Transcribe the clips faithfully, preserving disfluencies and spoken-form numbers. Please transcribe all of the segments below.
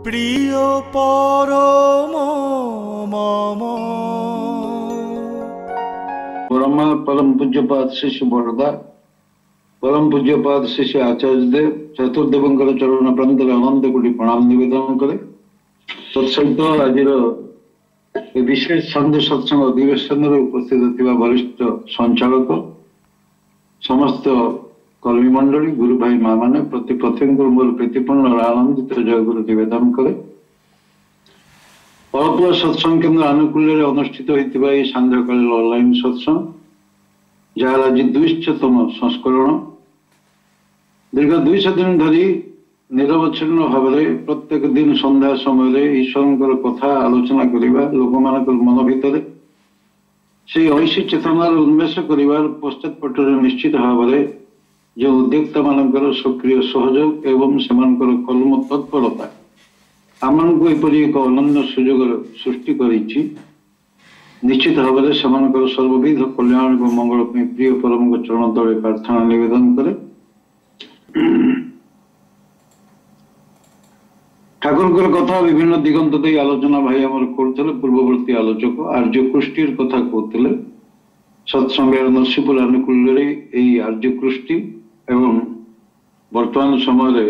প্রিয় পরম মম। পরমা পরম ପୂଜ୍ୟପାଦ ଶ୍ରୀ ଶ୍ରୀ ବରଦା, ପରମ ପୂଜ୍ୟପାଦ ଶ୍ରୀ ଶ୍ରୀ ଆଚାର୍ଯ୍ୟ ଦେବ, ଚତୁର୍ଦେବଙ୍କର ଚରଣ ପ୍ରାନ୍ତରେ ଅନନ୍ତ କୋଟି ପ୍ରଣାମ ନିବେଦନ କରେ। ତତ୍ସହିତ ଆଜିର ଏ ବିଶେଷ ସନ୍ଧ୍ୟା ସତ୍ସଙ୍ଗ ଅଧିବେଶନରେ ଉପସ୍ଥିତ ଥିବା ବରିଷ୍ଠ ସଞ୍ଚାଳକ, ସମସ୍ତ କର୍ମୀ ମଣ୍ଡଳୀ, ଗୁରୁ ଭାଇ ମା ମାନେ, ପ୍ରତି ପ୍ରତ୍ୟେକଙ୍କୁ ମୋର ପ୍ରୀତିପୂର୍ଣ୍ଣ ଆନନ୍ଦିତ ଜୟଗୁରୁ ନିବେଦନ କରେ। ଅଳପ ସତ୍ସଙ୍ଗ କେନ୍ଦ୍ର ଆନୁକୂଲ୍ୟରେ ଅନୁଷ୍ଠିତ ହୋଇଥିବା ଏହି ସାନ୍ଧ୍ୟକାଳୀନ ଅନଲାଇନ ସତ୍ସଙ୍ଗ, ଯାହାର ଆଜି ଦୁଇଶତମ ସଂସ୍କରଣ, ଦୀର୍ଘ ଦୁଇଶହ ଦିନ ଧରି ନିରବଚ୍ଛିନ୍ନ ଭାବରେ ପ୍ରତ୍ୟେକ ଦିନ ସନ୍ଧ୍ୟା ସମୟରେ ଈଶ୍ୱରଙ୍କର କଥା ଆଲୋଚନା କରିବା, ଲୋକମାନଙ୍କର ମନ ଭିତରେ ସେଇ ଐଶୀ ଚେତନାର ଉନ୍ମେଷ କରିବାର ପଶ୍ଚାତପଟରେ ନିଶ୍ଚିତ ଭାବରେ ଯେଉଁ ଉଦ୍ୟୋକ୍ତା ମାନଙ୍କର ସକ୍ରିୟ ସହଯୋଗ ଏବଂ ସେମାନଙ୍କର କର୍ମ ତତ୍ପରତା ଆମମାନଙ୍କୁ ଏପରି ଏକ ଅନନ୍ୟ ସୁଯୋଗର ସୃଷ୍ଟି କରିଛି, ନିଶ୍ଚିତ ଭାବରେ ସେମାନଙ୍କର ସର୍ବବିଧ କଲ୍ୟାଣ ଏବଂ ମଙ୍ଗଳ ପାଇଁ ପ୍ରିୟ ପରମଙ୍କ ଚରଣ ତଳେ ପ୍ରାର୍ଥନା ନିବେଦନ କରେ। ଠାକୁରଙ୍କର କଥା ବିଭିନ୍ନ ଦିଗନ୍ତ ଦେଇ ଆଲୋଚନା ଭାଇ ଆମର କରୁଥିଲେ। ପୂର୍ବବର୍ତ୍ତୀ ଆଲୋଚକ ଆର୍ଯ୍ୟ କୃଷ୍ଟିର କଥା କହୁଥିଲେ। ସତ୍ସଙ୍ଗର ନରସିଂହପୁର ଆନୁକୂଲ୍ୟରେ ଏଇ ଆର୍ଯ୍ୟ କୃଷ୍ଟି ଏବଂ ବର୍ତ୍ତମାନ ସମୟରେ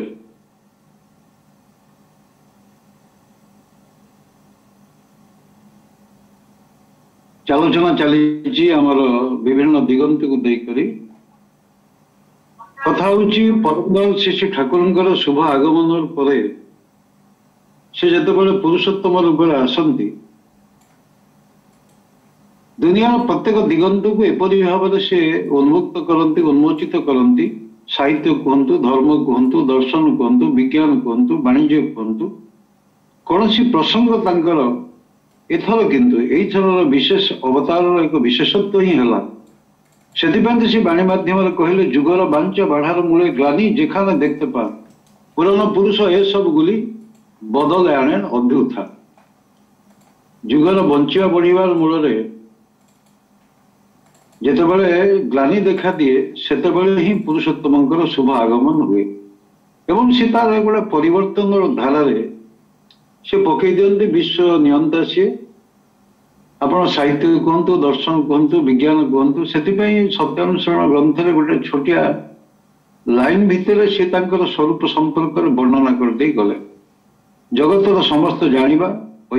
ଆଲୋଚନା ଚାଲିଛି ଆମର ବିଭିନ୍ନ ଦିଗନ୍ତକୁ ଦେଇକରି। କଥା ହଉଛି ପରମ ଶ୍ରୀ ଶ୍ରୀ ଠାକୁରଙ୍କର ଶୁଭ ଆଗମନ ପରେ ସେ ଯେତେବେଳେ ପୁରୁଷୋତ୍ତମ ରୂପରେ ଆସନ୍ତି, ଦୁନିଆର ପ୍ରତ୍ୟେକ ଦିଗନ୍ତକୁ ଏପରି ଭାବରେ ସେ ଉନ୍ମୁକ୍ତ କରନ୍ତି, ଉନ୍ମୋଚିତ କରନ୍ତି। ସାହିତ୍ୟ କୁହନ୍ତୁ, ଧର୍ମ କୁହନ୍ତୁ, ଦର୍ଶନ କୁହନ୍ତୁ, ବିଜ୍ଞାନ କୁହନ୍ତୁ, ବାଣିଜ୍ୟ କୁହନ୍ତୁ, କୌଣସି ପ୍ରସଙ୍ଗ ତାଙ୍କର ଏଥର କିନ୍ତୁ ଏଇଥରର ବିଶେଷ ଅବତାରର ଏକ ବିଶେଷତ୍ୱ ହିଁ ହେଲା। ସେଥିପାଇଁ ତ ସେ ବାଣୀ ମାଧ୍ୟମରେ କହିଲେ, ଯୁଗର ବାଞ୍ଚ ବାଢ଼ାର ମୂଳେ ଗ୍ଲାନି ଯେখানে দেখতে ପା, ପୁରାଣ ପୁରୁଷ ଏସବୁ ଗୁଲି ବଦଲେ ଆଣେন ଅଭ୍ୟୁତ୍ଥା। ଯୁଗର ବଞ୍ଚିବା ବଢିବାର ମୂଳରେ ଯେତେବେଳେ ଗ୍ଲାନି ଦେଖାଦିଏ, ସେତେବେଳେ ହିଁ ପୁରୁଷୋତ୍ତମଙ୍କର ଶୁଭ ଆଗମନ ହୁଏ ଏବଂ ସେ ତାର ଗୋଟେ ପରିବର୍ତ୍ତନର ଧାରାରେ ସେ ପକେଇ ଦିଅନ୍ତି। ବିଶ୍ୱ ନିୟନ୍ତା ସିଏ। ଆପଣ ସାହିତ୍ୟ କୁହନ୍ତୁ, ଦର୍ଶନ କୁହନ୍ତୁ, ବିଜ୍ଞାନ କୁହନ୍ତୁ, ସେଥିପାଇଁ ସତ୍ୟାନୁସରଣ ଗ୍ରନ୍ଥରେ ଗୋଟେ ଛୋଟିଆ ଲାଇନ ଭିତରେ ସେ ତାଙ୍କର ସ୍ୱରୂପ ସମ୍ପର୍କରେ ବର୍ଣ୍ଣନା କରିଦେଇ ଗଲେ। ଜଗତର ସମସ୍ତ ଜାଣିବା,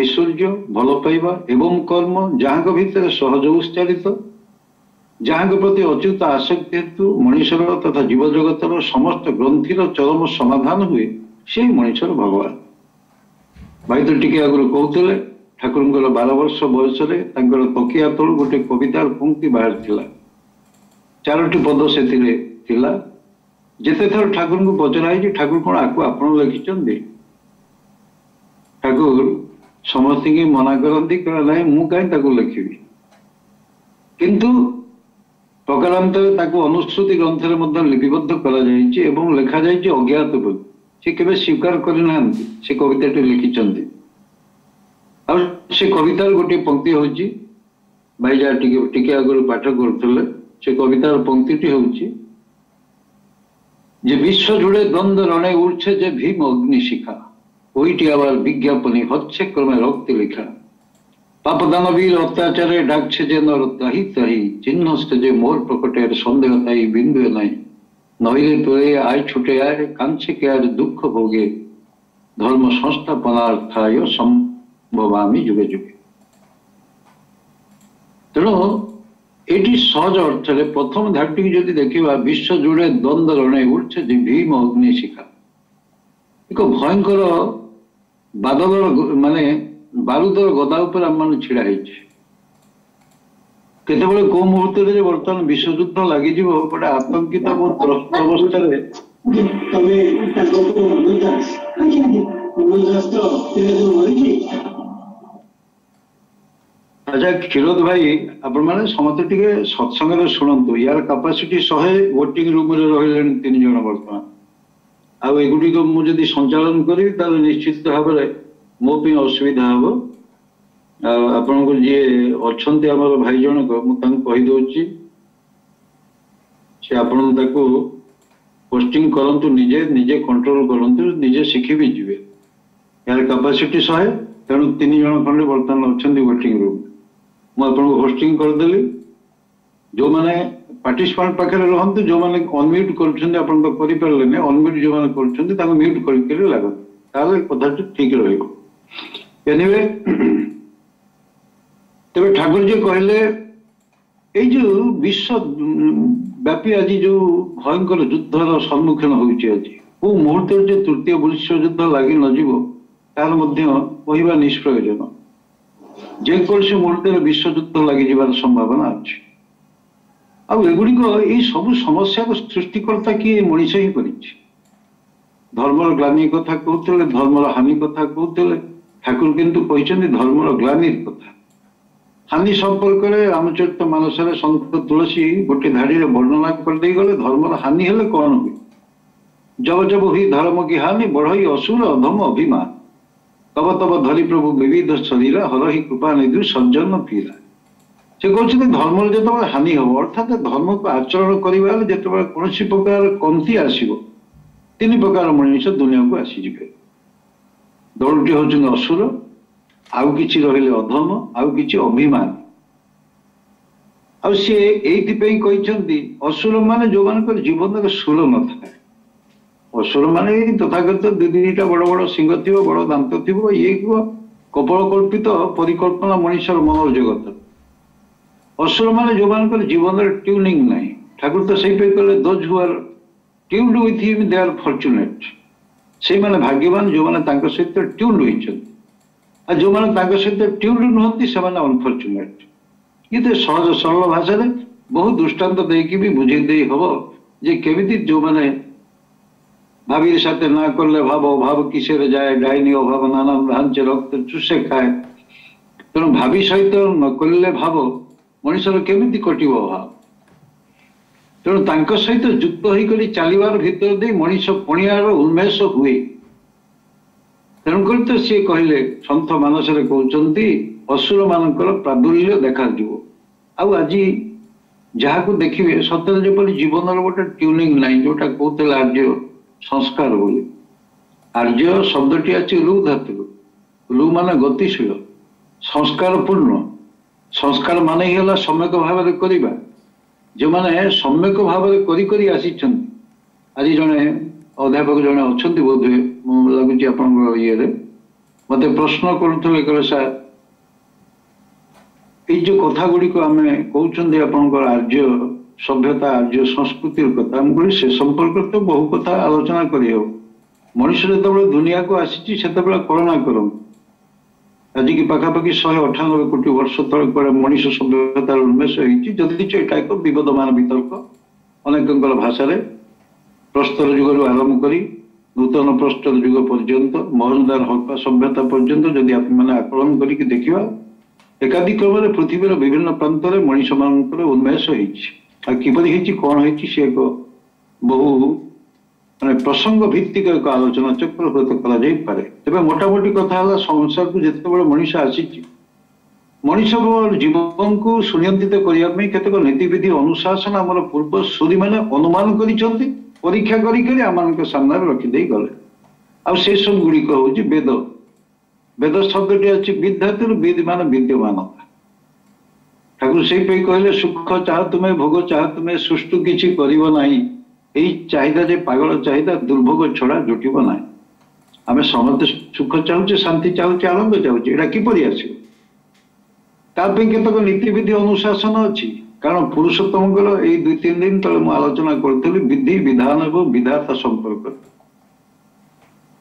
ଐଶ୍ୱର୍ଯ୍ୟ, ଭଲ ପାଇବା ଏବଂ କର୍ମ ଯାହାଙ୍କ ଭିତରେ ସହଜ ଉଚ୍ଚାରିତ, ଯାହାଙ୍କ ପ୍ରତି ଅଚ୍ୟୁତ ଆସକ୍ତି ହେତୁ ମଣିଷର ତଥା ଜୀବଜଗତର ସମସ୍ତ ଗ୍ରନ୍ଥିର ଚରମ ସମାଧାନ ହୁଏ, ସେଇ ମଣିଷର ଭଗବାନ। ଭାଇ ତ ଟିକେ ଆଗରୁ କହୁଥିଲେ, ଠାକୁରଙ୍କର ବାର ବର୍ଷ ବୟସରେ ତାଙ୍କର ତକିଆ ତଳୁ ଗୋଟେ କବିତାର ପଙ୍କ୍ତି ବାହାରିଥିଲା। ଚାରୋଟି ପଦ ସେଥିରେ ଥିଲା। ଯେତେଥର ଠାକୁରଙ୍କୁ ପଚରା ହେଇଛି, ଠାକୁର କଣ ଆକୁ ଆପଣ ଲେଖିଛନ୍ତି? ଠାକୁର ସମସ୍ତଙ୍କୁ ମନା କରନ୍ତି, କହିଲେ ନାଇଁ, ମୁଁ କାହିଁ ତାକୁ ଲେଖିବି। କିନ୍ତୁ ପ୍ରକାରାନ୍ତରେ ତାକୁ ଅନୁଶ୍ରୁତି ଗ୍ରନ୍ଥରେ ମଧ୍ୟ ଲିପିବଦ୍ଧ କରାଯାଇଛି ଏବଂ ଲେଖାଯାଇଛି ଅଜ୍ଞାତ ବୋଲି। ସେ କେବେ ସ୍ୱୀକାର କରିନାହାନ୍ତି ସେ କବିତାଟି ଲେଖିଛନ୍ତି। ଆଉ ସେ କବିତାର ଗୋଟିଏ ପଙ୍କ୍ତି ହଉଛି, ଭାଇ ଯାହା ଟିକେ ଟିକେ ଆଗରୁ ପାଠ କରୁଥିଲେ, ସେ କବିତାର ପଙ୍କ୍ତିଟି ହଉଛି যে বিশ্ব জুড়ে দ্বন্দ্ব রণে উঠছে যে ভীম অগ্নিশিখা, ওইটি আবার বিজ্ঞাপনী হচ্ছে ক্রমে রক্তে লেখা। পাপ দানবীর অত্যাচারে ডাকছে যে নর তাহি তাহি, চিহ্নস্তে যে মোর প্রকটের সন্দেহ তাই বিন্দু নাই। নইলে তোরে আয় ছুটে আয়, কাঁদছে কে আর দুঃখ ভোগে, ধর্ম সংস্থাপনার্থায় সম্ভবামি যুগে যুগে। ତେଣୁ ଏଠି ସହଜ ଅର୍ଥରେ ପ୍ରଥମ ଧାଡ଼ିଟିକୁ ଯଦି ଦେଖିବା, ବିଶ୍ୱ ଜୁଡ଼େ ଦ୍ୱନ୍ଦ୍ୱ ରଣେ ଉଠছে ଯେ ଭୀମ ଅଗ୍ନିଶିଖା, ଏକ ଭୟଙ୍କର ବାଦଲର ମାନେ ବାରୁଦର ଗଦା ଉପରେ ଆମମାନେ ଛିଡା ହେଇଛେ। କେତେବେଳେ କୋଉ ମୁହୂର୍ତ୍ତରେ ଯେ ବର୍ତ୍ତମାନ ବିଶ୍ୱଯୁଦ୍ଧ ଲାଗିଯିବ, ଗୋଟେ ଆତଙ୍କିତ ଏବଂ ତ୍ରସ୍ତ ଅବସ୍ଥାରେ। ତମେ ତାଙ୍କ ମନୋଜ ଦାସ? ଆଜ୍ଞା ଆଜ୍ଞା, ମନୋଜ ଦାସ ତ ମରିଛି। ଆଚ୍ଛା କ୍ଷୀରୋଦ ଭାଇ, ଆପଣମାନେ ସମସ୍ତେ ଟିକେ ସତ୍ସଙ୍ଗରେ ଶୁଣନ୍ତୁ। ୟାର କାପାସିଟି ଶହେ, ୱେଟିଂ ରୁମରେ ରହିଲେଣି ତିନି ଜଣ ବର୍ତ୍ତମାନ। ଆଉ ଏଗୁଡ଼ିକ ମୁଁ ଯଦି ସଞ୍ଚାଳନ କରିବି, ତାହେଲେ ନିଶ୍ଚିତ ଭାବରେ ମୋ ପାଇଁ ଅସୁବିଧା ହବ। ଆଉ ଆପଣଙ୍କୁ ଯିଏ ଅଛନ୍ତି ଆମର ଭାଇ ଜଣକ, ମୁଁ ତାଙ୍କୁ କହିଦଉଛି, ସେ ଆପଣ ତାକୁ ପୋଷ୍ଟିଂ କରନ୍ତୁ, ନିଜେ ନିଜେ କଣ୍ଟ୍ରୋଲ କରନ୍ତୁ, ନିଜେ ଶିଖି ବି ଯିବେ। ଏହାର କାପାସିଟି ଶହେ, ତେଣୁ ତିନି ଜଣ ଖଣ୍ଡେ ବର୍ତ୍ତମାନ ଅଛନ୍ତି ୱେଟିଂ ରୁମ୍। ମୁଁ ଆପଣଙ୍କୁ ହୋଷ୍ଟିଂ କରିଦେଲି। ଯୋଉମାନେ ପାର୍ଟିସିପାଣ୍ଟ ପାଖରେ ରୁହନ୍ତୁ, ଯୋଉମାନେ ଅନମ୍ୟୁଟ୍ କରୁଛନ୍ତି, ଆପଣ ତ କରିପାରିଲେନି ଅନମ୍ୟୁଟ୍, ଯୋଉମାନେ କରୁଛନ୍ତି ତାଙ୍କୁ ମ୍ୟୁଟ୍ କରିକରି ଲାଗନ୍ତୁ, ତାହେଲେ କଥାଟି ଠିକ ରହିବ। ଏନିୱେ, ତେବେ ଠାକୁରଜୀ କହିଲେ, ଏଇ ଯୋଉ ବିଶ୍ୱ ବ୍ୟାପୀ ଆଜି ଯୋଉ ଭୟଙ୍କର ଯୁଦ୍ଧର ସମ୍ମୁଖୀନ ହଉଛି, ଆଜି କୋଉ ମୁହୂର୍ତ୍ତରେ ଯେ ତୃତୀୟ ବିଶ୍ୱଯୁଦ୍ଧ ଲାଗି ନଯିବ ତାର ମଧ୍ୟ କହିବା ନିଷ୍ପ୍ରୟୋଜନ। ଯେକୌଣସି ମୁହୂର୍ତ୍ତରେ ବିଶ୍ୱଯୁଦ୍ଧ ଲାଗିଯିବାର ସମ୍ଭାବନା ଅଛି। ଆଉ ଏଗୁଡିକ ଏଇ ସବୁ ସମସ୍ୟାର ସୃଷ୍ଟିକର୍ତ୍ତା କିଏ? ମଣିଷ ହିଁ କରିଛି। ଧର୍ମର ଗ୍ଲାନି କଥା କହୁଥିଲେ, ଧର୍ମର ହାନି କଥା କହୁଥିଲେ, ଠାକୁର କିନ୍ତୁ କହିଛନ୍ତି ଧର୍ମର ଗ୍ଲାନିର କଥା। ହାନି ସମ୍ପର୍କରେ ରାମଚରିତ ମାନସରେ ସନ୍ଥ ତୁଳସୀ ଗୋଟେ ଧାଡିରେ ବର୍ଣ୍ଣନା କରିଦେଇ ଗଲେ, ଧର୍ମର ହାନି ହେଲେ କଣ ହୁଏ। ଜବ ଜବ ହୁଇ ଧର୍ମ କି ହାନି, ବଢଇ ଅସୁର ଅଧମ ଅଭିମାନ, ତବ ତବ ଧରି ପ୍ରଭୁ ବିବିଧ ଶରୀର, ହରହି କୃପା ନିଧୁ ସଜ୍ଜନ ପୀରା। ସେ କହୁଛନ୍ତି ଧର୍ମର ଯେତେବେଳେ ହାନି ହବ, ଅର୍ଥାତ ଧର୍ମକୁ ଆଚରଣ କରିବାରେ ଯେତେବେଳେ କୌଣସି ପ୍ରକାର କମତି ଆସିବ, ତିନି ପ୍ରକାର ମଣିଷ ଦୁନିଆକୁ ଆସିଯିବେ। ଦଳଟି ହଉଛନ୍ତି ଅସୁର, ଆଉ କିଛି ରହିଲେ ଅଧମ, ଆଉ କିଛି ଅଭିମାନ। ଆଉ ସିଏ ଏଇଥିପାଇଁ କହିଛନ୍ତି ଅସୁର ମାନେ ଯୋଉମାନଙ୍କର ଜୀବନରେ ସୁର ନଥାଏ। ଅସୁର ମାନେ ଏଇ ତଥାକଥିତ ଦୁଇ ଦିଟା ବଡ ବଡ ଶିଙ୍ଗ ଥିବ, ବଡ ଦାନ୍ତ ଥିବ, ଇଏ ଥିବ, କପୋଳ କଳ୍ପିତ ପରିକଳ୍ପନା ମଣିଷର ମନୋର ଜଗତ। ଅସୁର ମାନେ ଯୋଉମାନଙ୍କର ଜୀବନରେ ଟ୍ୟୁନିଂ ନାହିଁ। ଠାକୁର ତ ସେଇପାଇଁ କହିଲେ, those who are tuned with him, they are fortunate. ସେଇମାନେ ଭାଗ୍ୟବାନ ଯୋଉମାନେ ତାଙ୍କ ସହିତ ଟ୍ୟୁନ୍ଡ ହୋଇଛନ୍ତି, ଆଉ ଯୋଉମାନେ ତାଙ୍କ ସହିତ ଟ୍ୟୁନ୍ଡ ନୁହନ୍ତି ସେମାନେ ଅନଫର୍ଚୁନେଟ୍। କିନ୍ତୁ ସହଜ ସରଳ ଭାଷାରେ ବହୁ ଦୃଷ୍ଟାନ୍ତ ଦେଇକି ବି ବୁଝେଇ ଦେଇ ହବ ଯେ କେମିତି ଯୋଉମାନେ ଭାବିର ସାଥେ ନା କଲେ ଭାବ, ଅଭାବ କିସେରେ ଯାଏ, ଡାଇନି ଅଭାବ ନାନା ଢାଞ୍ଚେ ରକ୍ତ ଚୁଷେ ଖାଏ। ତେଣୁ ଭାବି ସହିତ ନ କଲେ ଭାବ, ମଣିଷର କେମିତି କଟିବ ଅଭାବ? ତେଣୁ ତାଙ୍କ ସହିତ ଯୁକ୍ତ ହେଇକରି ଚାଲିବାର ଭିତର ଦେଇ ମଣିଷ ପଣିଆର ଉନ୍ମେଷ ହୁଏ। ତେଣୁକରି ତ ସିଏ କହିଲେ, ସନ୍ଥ ମାନସରେ କହୁଛନ୍ତି ଅସୁର ମାନଙ୍କର ପ୍ରାଦୁଲ୍ୟ ଦେଖାଯିବ। ଆଉ ଆଜି ଯାହାକୁ ଦେଖିବେ ସତରେ ଯେପରି ଜୀବନର ଗୋଟେ ଟ୍ୟୁନିଂ ନାହିଁ, ଯୋଉଟା କହୁଥିଲେ ଆର୍ଯ୍ୟ ସଂସ୍କାର ବୋଲି। ଆର୍ଯ୍ୟ ଶବ୍ଦଟି ଅଛି ରୁ ଧାତୁରୁ, ରୁ ମାନେ ଗତିଶୀଳ, ସଂସ୍କାର ପୂର୍ଣ୍ଣ। ସଂସ୍କାର ମାନେ ହିଁ ହେଲା ସମ୍ୟକ ଭାବରେ କରିବା। ଯେଉଁମାନେ ସମ୍ୟକ ଭାବରେ କରି କରି ଆସିଛନ୍ତି, ଆଜି ଜଣେ ଅଧ୍ୟାପକ ଜଣେ ଅଛନ୍ତି ବୋଧହୁଏ, ମୁଁ ଲାଗୁଛି ଆପଣଙ୍କ ଇଏରେ, ମତେ ପ୍ରଶ୍ନ କରୁଥିଲେ, କହିଲେ ସାର୍ ଏଇ ଯୋଉ କଥା ଗୁଡ଼ିକ ଆମେ କହୁଛନ୍ତି ଆପଣଙ୍କର ଆର୍ଯ୍ୟ ସଭ୍ୟତା, ଆର୍ଯ୍ୟ ସଂସ୍କୃତିର କଥା, ମୁଁ କହିଲି ସେ ସମ୍ପର୍କରେ ତ ବହୁ କଥା ଆଲୋଚନା କରିହେବ। ମଣିଷ ଯେତେବେଳେ ଦୁନିଆକୁ ଆସିଛି ସେତେବେଳେ କଳନା କରନ୍ତୁ, ଆଜିକି ପାଖାପାଖି ଶହେ ଅଠାନବେ କୋଟି ବର୍ଷ ତଳେ କୁଆଡ଼େ ମଣିଷ ସଭ୍ୟତାର ଉନ୍ମେଷ ହେଇଛି। ଯଦି ଏଇଟା ଏକ ବିବଦମାନ ବିତର୍କ, ଅନେକଙ୍କର ଭାଷାରେ ପ୍ରସ୍ତର ଯୁଗରୁ ଆରମ୍ଭ କରି ନୂତନ ପ୍ରସ୍ତର ଯୁଗ ପର୍ଯ୍ୟନ୍ତ, ମହେଞ୍ଜୋଦାରୋ ହରପ୍ପା ସଭ୍ୟତା ପର୍ଯ୍ୟନ୍ତ ଯଦି ଆପଣମାନେ ଆକଳନ କରିକି ଦେଖିବା, ଏକାଧିକ୍ରମରେ ପୃଥିବୀର ବିଭିନ୍ନ ପ୍ରାନ୍ତରେ ମଣିଷମାନଙ୍କର ଉନ୍ମେଷ ହେଇଛି। ଆଉ କିପରି ହେଇଛି, କଣ ହେଇଛି, ସେ ଏକ ବହୁ ମାନେ ପ୍ରସଙ୍ଗ ଭିତ୍ତିକ ଏକ ଆଲୋଚନା ଚକ୍ର ହୁଏତ କରାଯାଇପାରେ। ତେବେ ମୋଟାମୋଟି କଥା ହେଲା, ସଂସାରକୁ ଯେତେବେଳେ ମଣିଷ ଆସିଛି, ମଣିଷ ଜୀବନକୁ ସୁନିୟନ୍ତ୍ରିତ କରିବା ପାଇଁ କେତେକ ନୀତିବିଧି ଅନୁଶାସନ ଆମର ପୂର୍ବ ସୂରୀମାନେ ଅନୁମାନ କରିଛନ୍ତି, ପରୀକ୍ଷା କରି କରି ଆମମାନଙ୍କ ସାମ୍ନାରେ ରଖିଦେଇ ଗଲେ। ଆଉ ସେ ସବୁ ଗୁଡ଼ିକ ହଉଛି ବେଦ। ବେଦ ଶବ୍ଦଟି ଅଛି ବିଦ୍ ଧାତୁରୁ, ବିଦ୍ ମାନେ ବିଦ୍ୟମାନତା। ଠାକୁର ସେଇପାଇଁ କହିଲେ, ସୁଖ ଚାହ ତୁମେ, ଭୋଗ ଚାହ ତୁମେ, ସୃଷ୍ଟି କିଛି କରିବ ନାହିଁ। ଏଇ ଚାହିଦା ଯେ ପାଗଳ ଚାହିଦା, ଦୁର୍ଭୋଗ ଛଡା ଜୁଟିବ ନାହିଁ। ଆମେ ସମସ୍ତେ ସୁଖ ଚାହୁଁଛେ, ଶାନ୍ତି ଚାହୁଁଛେ, ଆନନ୍ଦ ଚାହୁଁଛେ, ଏଇଟା କିପରି ଆସିବ? ତା ପାଇଁ କେତେକ ନୀତିବିଧି ଅନୁଶାସନ ଅଛି। କାରଣ ପୁରୁଷୋତ୍ତମଙ୍କର ଏଇ ଦୁଇ ତିନି ଦିନ ତଳେ ମୁଁ ଆଲୋଚନା କରୁଥିଲି ବିଧି ବିଧାନ ଏବଂ ବିଧାତା ସମ୍ପର୍କରେ।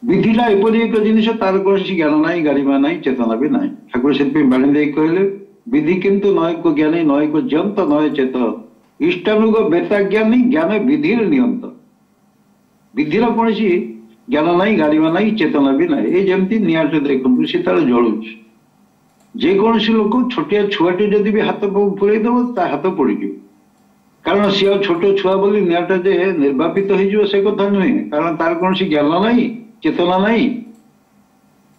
ବିଧିଟା ଏପରି ଏକ ଜିନିଷ, ତାର କୌଣସି ଜ୍ଞାନ ନାହିଁ, ଗାରିମା ନାହିଁ, ଚେତନା ବି ନାହିଁ। ଠାକୁର ସେଥିପାଇଁ ବାଣୀ ଦେଇ କହିଲେ, ବିଧି କିନ୍ତୁ ନୟକ ଜ୍ଞାନୀ, ନୟକ ଜନ୍ତ ନୟ ଚେତ, ଇଷ୍ଟାନୁଗ ବେତା ଜ୍ଞାନୀ ଜ୍ଞାନ ବିଧିର ନିୟନ୍ତ। ବିଧିର କୌଣସି ଜ୍ଞାନ ନାହିଁ, ଗାରିମା ନାହିଁ, ଚେତନା ବି ନାହିଁ। ଏଇ ଯେମିତି ନିଆଁଟେ ଦେଖନ୍ତୁ, ସେ ତାର ଜଳୁଛି। ଯେକୌଣସି ଲୋକ ଛୋଟିଆ ଛୁଆଟି ଯଦି ବି ହାତ ପୁରେଇ ଦବ, ତା ହାତ ପୋଡ଼ିଯିବ। କାରଣ ସିଏ ଆଉ ଛୋଟ ଛୁଆ ବୋଲି ନିଆଁଟା ଯେ ନିର୍ବାପିତ ହେଇଯିବ ସେ କଥା ନୁହେଁ, କାରଣ ତାର କୌଣସି ଜ୍ଞାନ ନାହିଁ, ଚେତନା ନାହିଁ।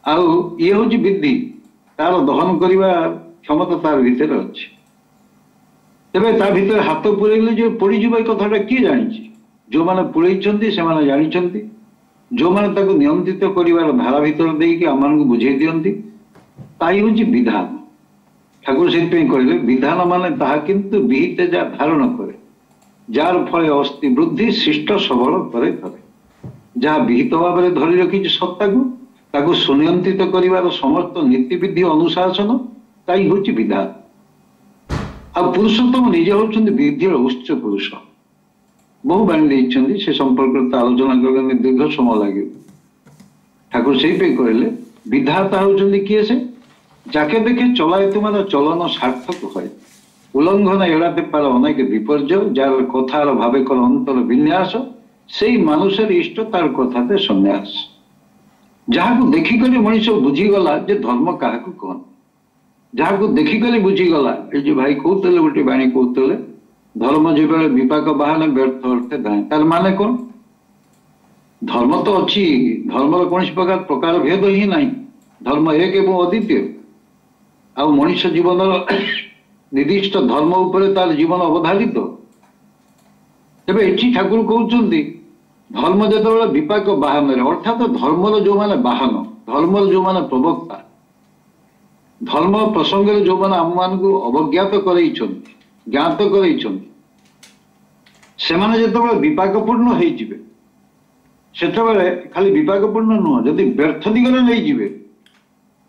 ଆଉ ଇଏ ହଉଛି ବିଧି, ତାର ଦହନ କରିବା କ୍ଷମତା ତାର ଭିତରେ ଅଛି। ତେବେ ତା ଭିତରେ ହାତ ପୁରେଇଲେ ଯେ ପୋଡ଼ିଯିବ ଏ କଥାଟା କିଏ ଜାଣିଛି? ଯୋଉମାନେ ପୁରେଇଛନ୍ତି ସେମାନେ ଜାଣିଛନ୍ତି। ଯେଉଁମାନେ ତାକୁ ନିୟନ୍ତ୍ରିତ କରିବାର ଧାରା ଭିତରେ ଦେଇକି ଆମମାନଙ୍କୁ ବୁଝେଇ ଦିଅନ୍ତି, ତାହା ହେଉଛି ବିଧାନ। ଠାକୁର ସେଥିପାଇଁ କହିଲେ ବିଧାନ ମାନେ ତାହା କିନ୍ତୁ ବିହିତ ଯାହା ଧାରଣ କରେ, ଯାହାର ଫଳେ ଅସ୍ଥି ବୃଦ୍ଧି ଶିଷ୍ଟ ସବଳ କରେ ଧରେ। ଯାହା ବିହିତ ଭାବରେ ଧରି ରଖିଛି ସତ୍ତାକୁ, ତାକୁ ସୁନିୟନ୍ତ୍ରିତ କରିବାର ସମସ୍ତ ନୀତିବିଧି ଅନୁଶାସନ, ତାଇ ହେଉଛି ବିଧାନ। ଆଉ ପୁରୁଷୋତ୍ତମ ନିଜେ ହେଉଛନ୍ତି ବିଧିର ଉଚ୍ଚ ପୁରୁଷ। ବହୁ ବାଣୀ ଦେଇଛନ୍ତି ସେ ସମ୍ପର୍କରେ ତ ଆଲୋଚନା କଲେ ଦୀର୍ଘ ସମୟ ଲାଗିବ। ଠାକୁର ସେଇପାଇଁ କହିଲେ ବିଧାତା ହେଉଛନ୍ତି କିଏ? ସେ ଯାକେ ଦେଖେ ଚଲାଏ ତୁମର ଚଲନ ସାର୍ଥକ হয়, ଉଲ୍ଲଙ୍ଘନ ଏଡ଼ାତେ ପାର ଅନେକ ବିପର୍ଯ୍ୟୟ, ଯାର କଥାର ଭାବେ କର ଅନ୍ତର ବିନ୍ୟାସ, ସେଇ মানুষের ଇଷ୍ଟ ତାର କଥାতে ସନ୍ନ୍ୟାସ। ଯାହାକୁ ଦେଖିକରି ମଣିଷ ବୁଝିଗଲା ଯେ ଧର୍ମ କାହାକୁ କହନ୍ତି, ଯାହାକୁ ଦେଖିକରି ବୁଝିଗଲା। ଏଇ ଯୋଉ ଭାଇ କହୁଥିଲେ ଗୋଟେ ବାଣୀ କହୁଥିଲେ, ଧର୍ମ ଯେବେଳେ ବିପାକ ବାହାନେ ବ୍ୟର୍ଥ ଅର୍ଥେ ଧାଏ। ତାର ମାନେ କଣ? ଧର୍ମ ତ ଅଛି, ଧର୍ମର କୌଣସି ପ୍ରକାର ପ୍ରକାର ଭେଦ ହିଁ ନାହିଁ। ଧର୍ମ ଏକ ଏବଂ ଅଦ୍ୱିତୀୟ। ଆଉ ମଣିଷ ଜୀବନର ନିର୍ଦ୍ଦିଷ୍ଟ ଧର୍ମ ଉପରେ ତାର ଜୀବନ ଅବଧାରିତ। ତେବେ ଏଠି ଠାକୁର କହୁଛନ୍ତି ଧର୍ମ ଯେତେବେଳେ ବିପାକ ବାହନରେ, ଅର୍ଥାତ ଧର୍ମର ଯୋଉମାନେ ବାହନ, ଧର୍ମର ଯୋଉମାନେ ପ୍ରବକ୍ତା, ଧର୍ମ ପ୍ରସଙ୍ଗରେ ଯୋଉମାନେ ଆମମାନଙ୍କୁ ଅବଜ୍ଞାତ କରେଇଛନ୍ତି, ଜ୍ଞାତ କରେଇଛନ୍ତି, ସେମାନେ ଯେତେବେଳେ ବିପାକପୂର୍ଣ୍ଣ ହେଇଯିବେ, ସେତେବେଳେ ଖାଲି ବିପାକପୂର୍ଣ୍ଣ ନୁହଁ, ଯଦି ବ୍ୟର୍ଥ ଦିଗରେ ନେଇଯିବେ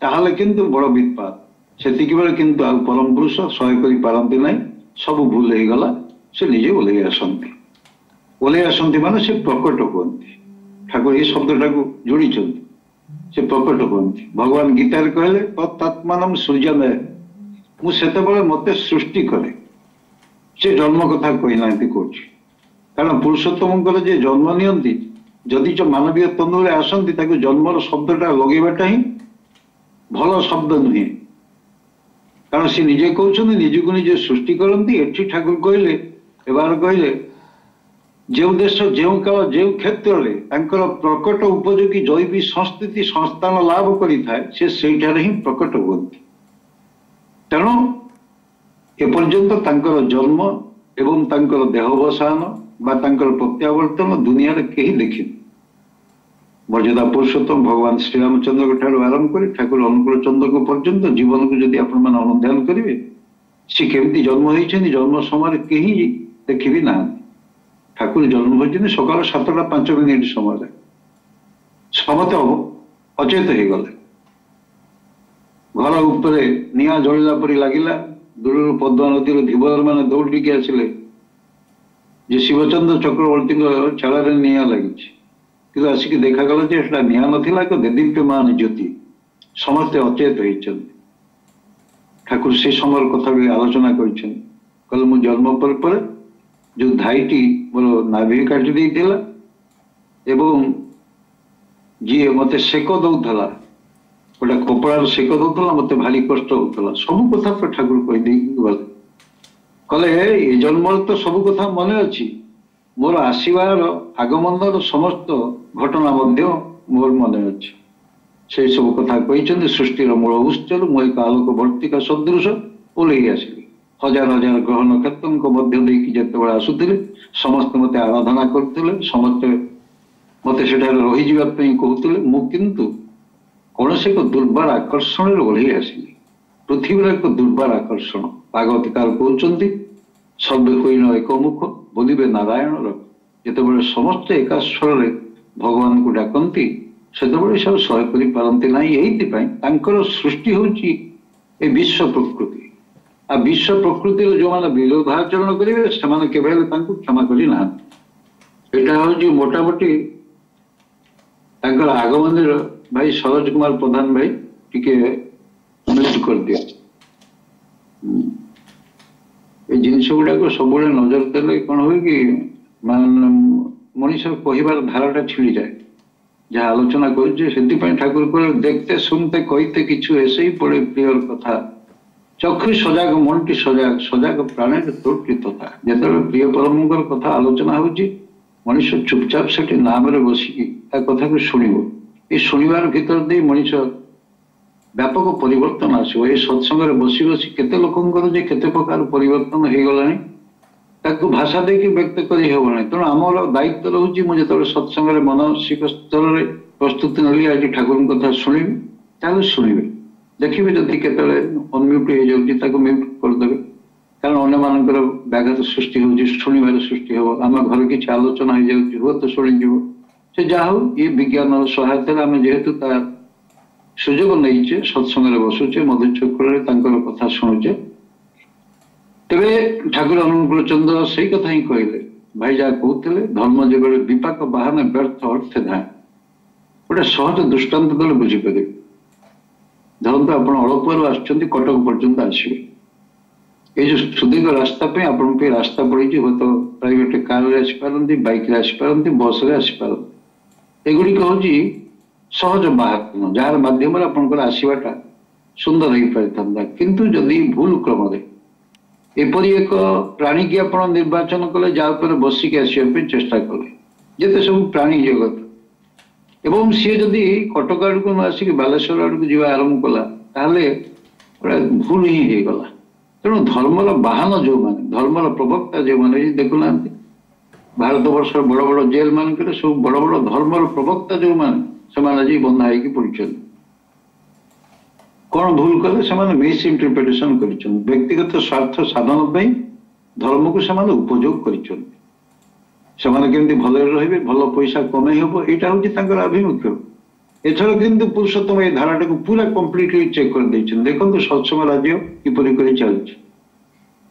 ତାହେଲେ କିନ୍ତୁ ବଡ ବିତ୍ପାତ। ସେତିକି ବେଳେ କିନ୍ତୁ ଆଉ ପରମ ପୁରୁଷ ସହ୍ୟ କରିପାରନ୍ତି ନାହିଁ, ସବୁ ଭୁଲ ହେଇଗଲା, ସେ ନିଜେ ଓହ୍ଲେଇ ଆସନ୍ତି। ଓହ୍ଲେଇ ଆସନ୍ତି ମାନେ ସେ ପ୍ରକଟ ହୁଅନ୍ତି। ଠାକୁର ଏଇ ଶବ୍ଦଟାକୁ ଯୋଡ଼ିଛନ୍ତି, ସେ ପ୍ରକଟ ହୁଅନ୍ତି। ଭଗବାନ ଗୀତାରେ କହିଲେ ତତ୍ଆତ୍ମାନମ ସୃଜମେ, ମୁଁ ସେତେବେଳେ ମତେ ସୃଷ୍ଟି କରେ। ସେ ଜନ୍ମ କଥା କହିନାହାନ୍ତି କୋଉଠି, କାରଣ ପୁରୁଷୋତ୍ତମଙ୍କର ଯେ ଜନ୍ମ ନିଅନ୍ତି, ଯଦି ଯୋଉ ମାନବୀୟ ତନୁରେ ଆସନ୍ତି, ତାକୁ ଜନ୍ମର ଶବ୍ଦଟା ଲଗେଇବାଟା ହିଁ ଭଲ ଶବ୍ଦ ନୁହେଁ। କାରଣ ସେ ନିଜେ କହୁଛନ୍ତି ନିଜକୁ ନିଜେ ସୃଷ୍ଟି କରନ୍ତି। ଏଠି ଠାକୁର କହିଲେ, ଏବାର କହିଲେ ଯେଉଁ ଦେଶ ଯେଉଁ କାଳ ଯେଉଁ କ୍ଷେତ୍ରରେ ତାଙ୍କର ପ୍ରକଟ ଉପଯୋଗୀ ଜୈବିକ ସଂସ୍କୃତି ସଂସ୍ଥାନ ଲାଭ କରିଥାଏ, ସେ ସେଇଠାରେ ହିଁ ପ୍ରକଟ ହୁଅନ୍ତି। ତେଣୁ ଏପର୍ଯ୍ୟନ୍ତ ତାଙ୍କର ଜନ୍ମ ଏବଂ ତାଙ୍କର ଦେହବସାନ ବା ତାଙ୍କର ପ୍ରତ୍ୟାବର୍ତ୍ତନ ଦୁନିଆରେ କେହି ଦେଖିନି। ମର୍ଯ୍ୟାଦା ପୁରୁଷୋତ୍ତମ ଭଗବାନ ଶ୍ରୀରାମଚନ୍ଦ୍ରଙ୍କ ଠାରୁ ଆରମ୍ଭ କରି ଠାକୁର ଅନୁକୂଳ ଚନ୍ଦ୍ରଙ୍କ ପର୍ଯ୍ୟନ୍ତ ଜୀବନକୁ ଯଦି ଆପଣମାନେ ଅନୁଧ୍ୟାନ କରିବେ, ସେ କେମିତି ଜନ୍ମ ହେଇଛନ୍ତି ଜନ୍ମ ସମୟରେ କେହି ଦେଖିବି ନାହାନ୍ତି। ଠାକୁର ଜନ୍ମ ହୋଇଛନ୍ତି ସକାଳ ସାତଟା ପାଞ୍ଚ ମିନିଟ ସମୟରେ, ସମସ୍ତେ ଅଚେତ ହେଇଗଲେ। ଘର ଉପରେ ନିଆଁ ଜଳିଲା ପରି ଲାଗିଲା। ଦୂରରୁ ପଦ୍ମା ନଦୀର ଧୀବର ମାନେ ଦୌଡ଼ିକି ଆସିଲେ ଯେ ଶିବଚନ୍ଦ୍ର ଚକ୍ରବର୍ତ୍ତୀଙ୍କ ଚାଳରେ ନିଆଁ ଲାଗିଛି। କିନ୍ତୁ ଆସିକି ଦେଖାଗଲା ଯେ ସେଟା ନିଆଁ ନଥିଲା, ଏକ ଦେଦୀପ୍ୟମାନ ଜ୍ୟୋତି। ସମସ୍ତେ ଅଚେତ ହେଇଛନ୍ତି। ଠାକୁର ସେ ସମୟର କଥା ବି ଆଲୋଚନା କରିଛନ୍ତି। କହିଲେ ମୁଁ ଜନ୍ମ ପରେ ପରେ ଯୋଉ ଧାଇଟି ମୋର ନାଭି କାଟି ଦେଇଥିଲା ଏବଂ ଯିଏ ମତେ ସେକ ଦଉଥିଲା, ଗୋଟେ କପଡ଼ାର ସେକ ଦଉଥିଲା, ମତେ ଭାରି କଷ୍ଟ ହଉଥିଲା। ସବୁ କଥା ତ ଠାକୁର କହିଦେଇକି ଗଲେ। କହିଲେ ଏ ଜନ୍ମରେ ତ ସବୁ କଥା ମନେ ଅଛି, ମୋର ଆସିବାର ଆଗମନର ସମସ୍ତ ଘଟଣା ମଧ୍ୟ ମୋର ମନେ ଅଛି। ସେଇ ସବୁ କଥା କହିଛନ୍ତି। ସୃଷ୍ଟିର ମୂଳ ଉତ୍ସରୁ ମୁଁ ଏକ ଆଲୋକ ବର୍ତ୍ତିକା ସଦୃଶ ଓହ୍ଲେଇ ଆସିଲି। ହଜାର ହଜାର ଗ୍ରହ ନକ୍ଷତ୍ରଙ୍କ ମଧ୍ୟ ଦେଇକି ଯେତେବେଳେ ଆସୁଥିଲେ, ସମସ୍ତେ ମତେ ଆରାଧନା କରୁଥିଲେ, ସମସ୍ତେ ମତେ ସେଠାରେ ରହିଯିବା ପାଇଁ କହୁଥିଲେ। ମୁଁ କିନ୍ତୁ କୌଣସି ଏକ ଦୁର୍ବାର ଆକର୍ଷଣରେ ଓହ୍ଲେଇ ଆସିଲି। ପୃଥିବୀର ଏକ ଦୁର୍ବାର ଆକର୍ଷଣ। ଭାଗବତକାର କହୁଛନ୍ତି ସର୍ବେ ହୋଇଣ ଏକମୁଖ ବୋଲିବେ ନାରାୟଣ ରଖ। ଯେତେବେଳେ ସମସ୍ତେ ଏକାସ୍ୱରରେ ଭଗବାନଙ୍କୁ ଡାକନ୍ତି, ସେତେବେଳେ ସେ ଆଉ ସହ୍ୟ କରିପାରନ୍ତି ନାହିଁ। ଏଇଥିପାଇଁ ତାଙ୍କର ସୃଷ୍ଟି ହେଉଛି ଏ ବିଶ୍ୱ ପ୍ରକୃତି। ଆଉ ବିଶ୍ୱ ପ୍ରକୃତିର ଯୋଉମାନେ ବିରୋଧାଚରଣ କରିବେ, ସେମାନେ କେବେ ହେଲେ ତାଙ୍କୁ କ୍ଷମା କରି ନାହାନ୍ତି। ଏଇଟା ହଉଛି ମୋଟାମୋଟି ତାଙ୍କର ଆଗମନୀର। ଭାଇ ସରୋଜ କୁମାର ପ୍ରଧାନ ଭାଇ ଟିକେ ମ୍ୟୁଟ୍ କରିଦିଅ। ଏଇ ଜିନିଷ ଗୁଡାକ ସବୁବେଳେ ନଜର ଦେଲେ କଣ ହୁଏ କି, ମାନେ ମଣିଷ କହିବାର ଧାରାଟା ଛିଡିଯାଏ ଯାହା ଆଲୋଚନା କରୁଛେ। ସେଥିପାଇଁ ଠାକୁର କହିଲେ ଦେଖତେ ଶୁଣତେ କହିତେ କିଛି ଏସେଇ ପଡେ ପ୍ରିୟର କଥା, ଚକ୍ଷୁ ସଜାଗ ମନଟି ସଜାଗ, ସଜାଗ ପ୍ରାଣରେ ତ୍ରୁଟି ତଥା। ଯେତେବେଳେ ପ୍ରିୟ ପରମଙ୍କର କଥା ଆଲୋଚନା ହଉଛି, ମଣିଷ ଚୁପଚାପ ସେଠି ନାମରେ ବସିକି ତା କଥାକୁ ଶୁଣିବ। ଏ ଶୁଣିବାର ଭିତରେ ଦେଇ ମଣିଷ ବ୍ୟାପକ ପରିବର୍ତ୍ତନ ଆସିବ। ଏ ସତ୍ସଙ୍ଗରେ ବସି ବସି କେତେ ଲୋକଙ୍କର ଯେ କେତେ ପ୍ରକାର ପରିବର୍ତ୍ତନ ହେଇଗଲାଣି ତା ତାକୁ ଭାଷା ଦେଇକି ବ୍ୟକ୍ତ କରି ହେବ ନାହିଁ। ତେଣୁ ଆମର ଦାୟିତ୍ୱ ରହୁଛି, ମୁଁ ଯେତେବେଳେ ସତ୍ସଙ୍ଗରେ ମାନସିକ ସ୍ତରରେ ପ୍ରସ୍ତୁତି ନେଲି ଆଜି ଠାକୁରଙ୍କ କଥା ଶୁଣିବି, ତାହେଲେ ଶୁଣିବେ। ଦେଖିବେ ଯଦି କେତେବେଳେ ଅନମ୍ୟୁଟ୍ ହେଇଯାଉଛି ତାକୁ ମ୍ୟୁଟ୍ କରିଦେବେ, କାରଣ ଅନ୍ୟମାନଙ୍କର ବ୍ୟାଘାତ ସୃଷ୍ଟି ହେଉଛି, ଶୁଣିବାରେ ସୃଷ୍ଟି ହେବ। ଆମ ଘରେ କିଛି ଆଲୋଚନା ହେଇଯାଉଛି, ହୁଏତ ଶୁଣିଯିବ। ସେ ଯାହା ହଉ, ଇଏ ବିଜ୍ଞାନର ସହାୟତାରେ ଆମେ ଯେହେତୁ ତା ସୁଯୋଗ ନେଇଛେ, ସତ୍ସଙ୍ଗରେ ବସୁଛେ, ମଧୁଚକ୍ରରେ ତାଙ୍କର କଥା ଶୁଣୁଛେ। ତେବେ ଠାକୁର ଅନୁକୂଳ ଚନ୍ଦ୍ର ସେଇ କଥା ହିଁ କହିଲେ, ଭାଇ ଯାହା କହୁଥିଲେ, ଧର୍ମ ଯେବେଳେ ବିପାକ ବାହାନ ବ୍ୟର୍ଥ ଅର୍ଥେ ଧାଏ। ଗୋଟେ ସହଜ ଦୃଷ୍ଟାନ୍ତ ଦେଲେ ବୁଝିପାରିବେ। ଧରନ୍ତୁ ଆପଣ ଅଳପୁଆରୁ ଆସୁଛନ୍ତି, କଟକ ପର୍ଯ୍ୟନ୍ତ ଆସିବେ। ଏଇ ଯୋଉ ସୁଦୀର୍ଘ ରାସ୍ତା ପାଇଁ ଆପଣଙ୍କ ପାଇଁ ରାସ୍ତା ପଡ଼ିଛି, ହୁଏତ ପ୍ରାଇଭେଟ କାରରେ ଆସିପାରନ୍ତି, ବାଇକରେ ଆସିପାରନ୍ତି, ବସରେ ଆସିପାରନ୍ତି। ଏଗୁଡ଼ିକ ହଉଛି ସହଜ ବାହାନ, ଯାହାର ମାଧ୍ୟମରେ ଆପଣଙ୍କର ଆସିବାଟା ସୁନ୍ଦର ହେଇପାରିଥାନ୍ତା। କିନ୍ତୁ ଯଦି ଭୁଲ କ୍ରମରେ ଏପରି ଏକ ପ୍ରାଣୀକି ଆପଣ ନିର୍ବାଚନ କଲେ ଯାହା ଉପରେ ବସିକି ଆସିବା ପାଇଁ ଚେଷ୍ଟା କଲେ, ଯେତେ ସବୁ ପ୍ରାଣୀ ଜଗତ, ଏବଂ ସିଏ ଯଦି କଟକ ଆଡ଼କୁ ନ ଆସିକି ବାଲେଶ୍ୱର ଆଡ଼କୁ ଯିବା ଆରମ୍ଭ କଲା, ତାହେଲେ ଗୋଟେ ଭୁଲ ହିଁ ହେଇଗଲା। ତେଣୁ ଧର୍ମର ବାହାନ ଯୋଉମାନେ, ଧର୍ମର ପ୍ରବକ୍ତା ଯେଉଁମାନେ, ଦେଖୁନାହାନ୍ତି ଭାରତ ବର୍ଷର ବଡ଼ ବଡ଼ ଜେଲ ମାନଙ୍କରେ ସବୁ ବଡ଼ ବଡ଼ ଧର୍ମର ପ୍ରବକ୍ତା ଯୋଉମାନେ, ସେମାନେ ଆଜି ବନ୍ଧା ହେଇକି ପଡ଼ିଛନ୍ତି। କଣ ଭୁଲ କଲେ ସେମାନେ? ମିସ୍ ଇଣ୍ଟରପ୍ରିଟେସନ କରିଛନ୍ତି। ବ୍ୟକ୍ତିଗତ ସ୍ୱାର୍ଥ ସାଧନ ପାଇଁ ଧର୍ମକୁ ସେମାନେ ଉପଯୋଗ କରିଛନ୍ତି। ସେମାନେ କେମିତି ଭଲରେ ରହିବେ, ଭଲ ପଇସା କମେଇ ହବ, ଏଇଟା ହଉଛି ତାଙ୍କର ଆଭିମୁଖ୍ୟ। ଏଥର କିନ୍ତୁ ପୁରୁଷୋତ୍ତମ ଏଇ ଧାରାଟାକୁ ପୁରା କମ୍ପ୍ଲିଟଲି ଚେକ୍ କରିଦେଇଛନ୍ତି। ଦେଖନ୍ତୁ ସତ୍ସଙ୍ଗ ରାଜ୍ୟ କିପରି କରି ଚାଲିଛି।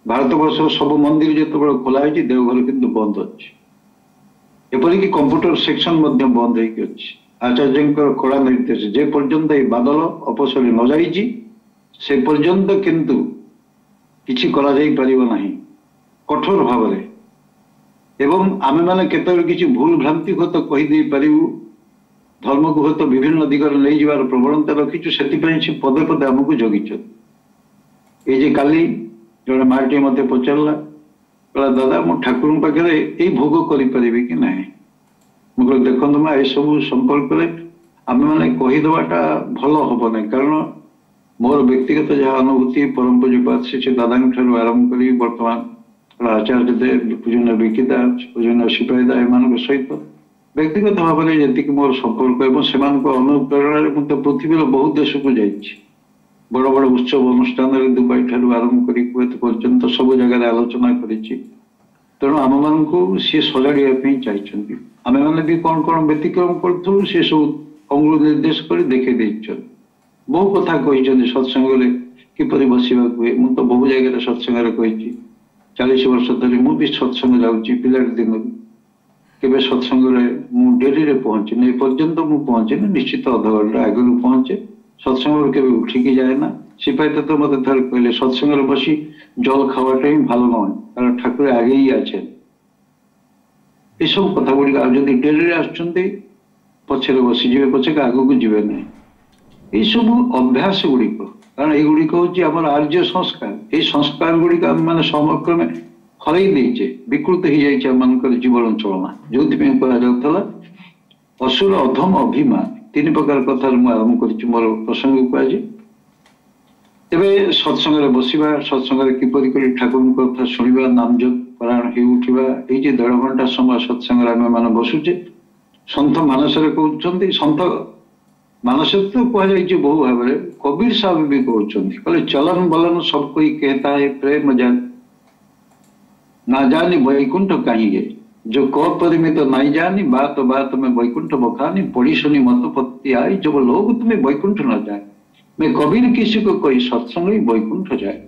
ଭାରତବର୍ଷର ସବୁ ମନ୍ଦିର ଯେତେବେଳେ ଖୋଲା ହେଇଛି, ଦେଓଘର କିନ୍ତୁ ବନ୍ଦ ଅଛି। ଏପରିକି କମ୍ପ୍ୟୁଟର ସେକ୍ସନ ମଧ୍ୟ ବନ୍ଦ ହେଇକି ଅଛି। ଆଚାର୍ଯ୍ୟଙ୍କର କଡ଼ା ନିର୍ଦ୍ଦେଶ, ଯେ ପର୍ଯ୍ୟନ୍ତ ଏଇ ବାଦଲ ଅପସରି ନ ଯାଇଛି ସେ ପର୍ଯ୍ୟନ୍ତ କିନ୍ତୁ କିଛି କରାଯାଇ ପାରିବ ନାହିଁ, କଠୋର ଭାବରେ। ଏବଂ ଆମେମାନେ କେତେବେଳେ କିଛି ଭୁଲ ଭ୍ରାନ୍ତି ହୁଏତ କହିଦେଇ ପାରିବୁ, ଧର୍ମକୁ ହୁଏତ ବିଭିନ୍ନ ଦିଗରେ ନେଇଯିବାର ପ୍ରବଣତା ରଖିଛୁ, ସେଥିପାଇଁ ସେ ପଦେ ପଦେ ଆମକୁ ଜଗିଛନ୍ତି। ଏଇ ଯେ କାଲି ଜଣେ ମାଟିଏ ମତେ ପଚାରିଲା, କହିଲା ଦାଦା ମୁଁ ଠାକୁରଙ୍କ ପାଖରେ ଏଇ ଭୋଗ କରିପାରିବି କି ନାହିଁ? ମୁଁ କହିଲି ଦେଖନ୍ତୁ ମା, ଏସବୁ ସମ୍ପର୍କରେ ଆମେମାନେ କହିଦେବାଟା ଭଲ ହବ ନାହିଁ, କାରଣ ମୋର ବ୍ୟକ୍ତିଗତ ଯାହା ଅନୁଭୂତି ପରମ ପୂଜ୍ୟପାଦ ଶ୍ରୀ ଦାଦାଙ୍କ ଠାରୁ ଆରମ୍ଭ କରି ବର୍ତ୍ତମାନ ଆଚାର୍ଯ୍ୟ ଦେବ, ପୂଜନୀୟ ବିକିଦା, ପୂଜନୀୟ ସିପାହୀଦା, ଏମାନଙ୍କ ସହିତ ବ୍ୟକ୍ତିଗତ ଭାବରେ ଯେତିକି ମୋର ସମ୍ପର୍କ ଏବଂ ସେମାନଙ୍କ ଅନୁପ୍ରେରଣାରେ ମୁଁ ତ ପୃଥିବୀର ବହୁତ ଦେଶକୁ ଯାଇଛି। ବଡ଼ ବଡ଼ ଉତ୍ସବ ଅନୁଷ୍ଠାନରେ ଦୁବାଇ ଠାରୁ ଆରମ୍ଭ କରି କୁଏତ ପର୍ଯ୍ୟନ୍ତ ସବୁ ଜାଗାରେ ଆଲୋଚନା କରିଛି। ତେଣୁ ଆମମାନଙ୍କୁ ସିଏ ସଜାଡ଼ିବା ପାଇଁ ଚାହିଁଛନ୍ତି। ଆମେମାନେ ବି କଣ କଣ ବ୍ୟତିକ୍ରମ କରୁଥିଲୁ ସେ ସବୁ ଅଙ୍ଗୁଳ ନିର୍ଦ୍ଦେଶ କରି ଦେଖେଇ ଦେଇଛନ୍ତି। ବହୁ କଥା କହିଛନ୍ତି ସତ୍ସଙ୍ଗରେ କିପରି ବସିବାକୁ ହୁଏ। ମୁଁ ତ ବହୁ ଜାଗାରେ ସତ୍ସଙ୍ଗରେ କହିଛି। ଚାଳିଶ ବର୍ଷ ଧରି ମୁଁ ବି ସତ୍ସଙ୍ଗ ଯାଉଛି ପିଲାଟି ଦିନରୁ। କେବେ ସତ୍ସଙ୍ଗରେ ମୁଁ ଡେରିରେ ପହଞ୍ଚିନି, ଏପର୍ଯ୍ୟନ୍ତ ମୁଁ ପହଞ୍ଚିନି, ନିଶ୍ଚିତ ଅଧଘଣ୍ଟା ଆଗରୁ ପହଞ୍ଚେ। ସତ୍ସଙ୍ଗରୁ କେବେ ଉଠିକି ଯାଏ ନା। ସିପାହୀ ତ ମତେ ଥରେ କହିଲେ ସତ୍ସଙ୍ଗରେ ବସି ଜଳ ଖାওয়াটা ହିଁ ভালো নয়, କାରଣ ଠାକୁର আগেই আছেন। ଏସବୁ କଥା ଗୁଡ଼ିକ, ଆଉ ଯଦି ଡେରିରେ ଆସୁଛନ୍ତି ପଛରେ ବସିଯିବେ ପଛକେ, ଆଗକୁ ଯିବେ ନାହିଁ। ଏଇସବୁ ଅଭ୍ୟାସ ଗୁଡ଼ିକ, କାରଣ ଏଇଗୁଡ଼ିକ ହଉଛି ଆମର ଆର୍ଯ୍ୟ ସଂସ୍କାର। ଏଇ ସଂସ୍କାର ଗୁଡ଼ିକ ଆମେ ମାନେ ସମକ୍ରମେ ହରେଇ ଦେଇଛେ, ବିକୃତ ହେଇଯାଇଛି ଆମମାନଙ୍କର ଜୀବନ ଚଳନା। ଯୋଉଥିପାଇଁ କୁହାଯାଉଥିଲା ଅସୁର ଅଧମ ଅଭିମାନ, ତିନି ପ୍ରକାର କଥାରୁ ମୁଁ ଆରମ୍ଭ କରିଛି ମୋର ପ୍ରସଙ୍ଗକୁ ଆଜି। ତେବେ ସତ୍ସଙ୍ଗରେ ବସିବା, ସତ୍ସଙ୍ଗରେ କିପରି କରି ଠାକୁରଙ୍କ କଥା ଶୁଣିବା, ନାମ ଜପ ପରାୟଣ ହେଇ ଉଠିବା, ଏଇ ଯେ ଦେଢ଼ ଘଣ୍ଟା ସମୟ ସତ୍ସଙ୍ଗରେ ଆମେ ମାନେ ବସୁଛେ, ସନ୍ଥ ମାନସରେ କହୁଛନ୍ତି, ସନ୍ଥ ମାନସରେ ତ କୁହାଯାଇଛି ବହୁ ଭାବରେ, କବୀର ସାହେବ ବି କହୁଛନ୍ତି, କହିଲେ ଚଲନ ବଲନ सब कोई कहता है प्रेम जान ना जानी वैकुंठ कहीं है, जो को परिमित नहीं जानी बात बात में वैकुंठ बखानी, पढ़ी सुनी मत पत्ती आई जब लोग तुम्हें वैकुंठ न जाए, मैं कबीर किसी को कोई सत्संग ही वैकुंठ जाए।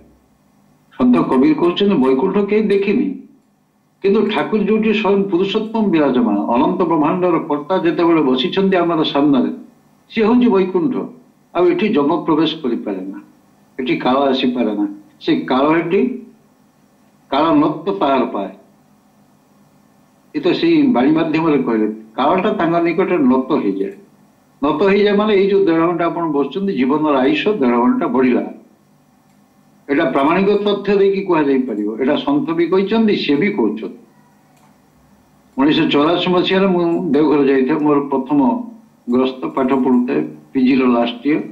ସନ୍ଥ କବୀର କହୁଛନ୍ତି ବୈକୁଣ୍ଠ କେହି ଦେଖିନି, କିନ୍ତୁ ଠାକୁର ଯୋଉଠି ସ୍ୱୟଂ ପୁରୁଷୋତ୍ତମ ବିରାଜମାନ, ଅନନ୍ତ ବ୍ରହ୍ମାଣ୍ଡର କର୍ତ୍ତା ଯେତେବେଳେ ବସିଛନ୍ତି ଆମର ସାମ୍ନାରେ, ସିଏ ହଉଛି ବୈକୁଣ୍ଠ। ଆଉ ଏଠି ଯମ ପ୍ରବେଶ କରିପାରେ ନା, ଏଠି କାଳ ଆସିପାରେ ନା। ସେ କାଳ ଏଠି କାଳ ନତ୍ତ ତାହାର ପାଏ। ଏ ତ ସେଇ ବାଣୀ ମାଧ୍ୟମରେ କହିଲେ କାଳଟା ତାଙ୍କ ନିକଟରେ ନତ ହେଇଯାଏ। ନତ ହେଇଯାଏ ମାନେ ଏଇ ଯୋଉ ଦେଢ଼ ଘଣ୍ଟା ଆପଣ ବସୁଛନ୍ତି, ଜୀବନର ଆୟୁଷ ଦେଢ଼ ଘଣ୍ଟା ବଢିଲା। ଏଇଟା ପ୍ରାମାଣିକ ତଥ୍ୟ ଦେଇକି କୁହାଯାଇ ପାରିବ। ଏଇଟା ସନ୍ଥ ବି କହିଛନ୍ତି, ସିଏ ବି କହୁଛନ୍ତି। ଉଣେଇଶହ ଚଉରାଅଶୀ ମସିହାରେ ମୁଁ ଦେଓଘର ଯାଇଥାଏ, ମୋର ପ୍ରଥମ ଗ୍ରସ୍ତ, ପାଠ ପଢୁଥାଏ ପିଜିର ଲାଷ୍ଟ ଇୟର।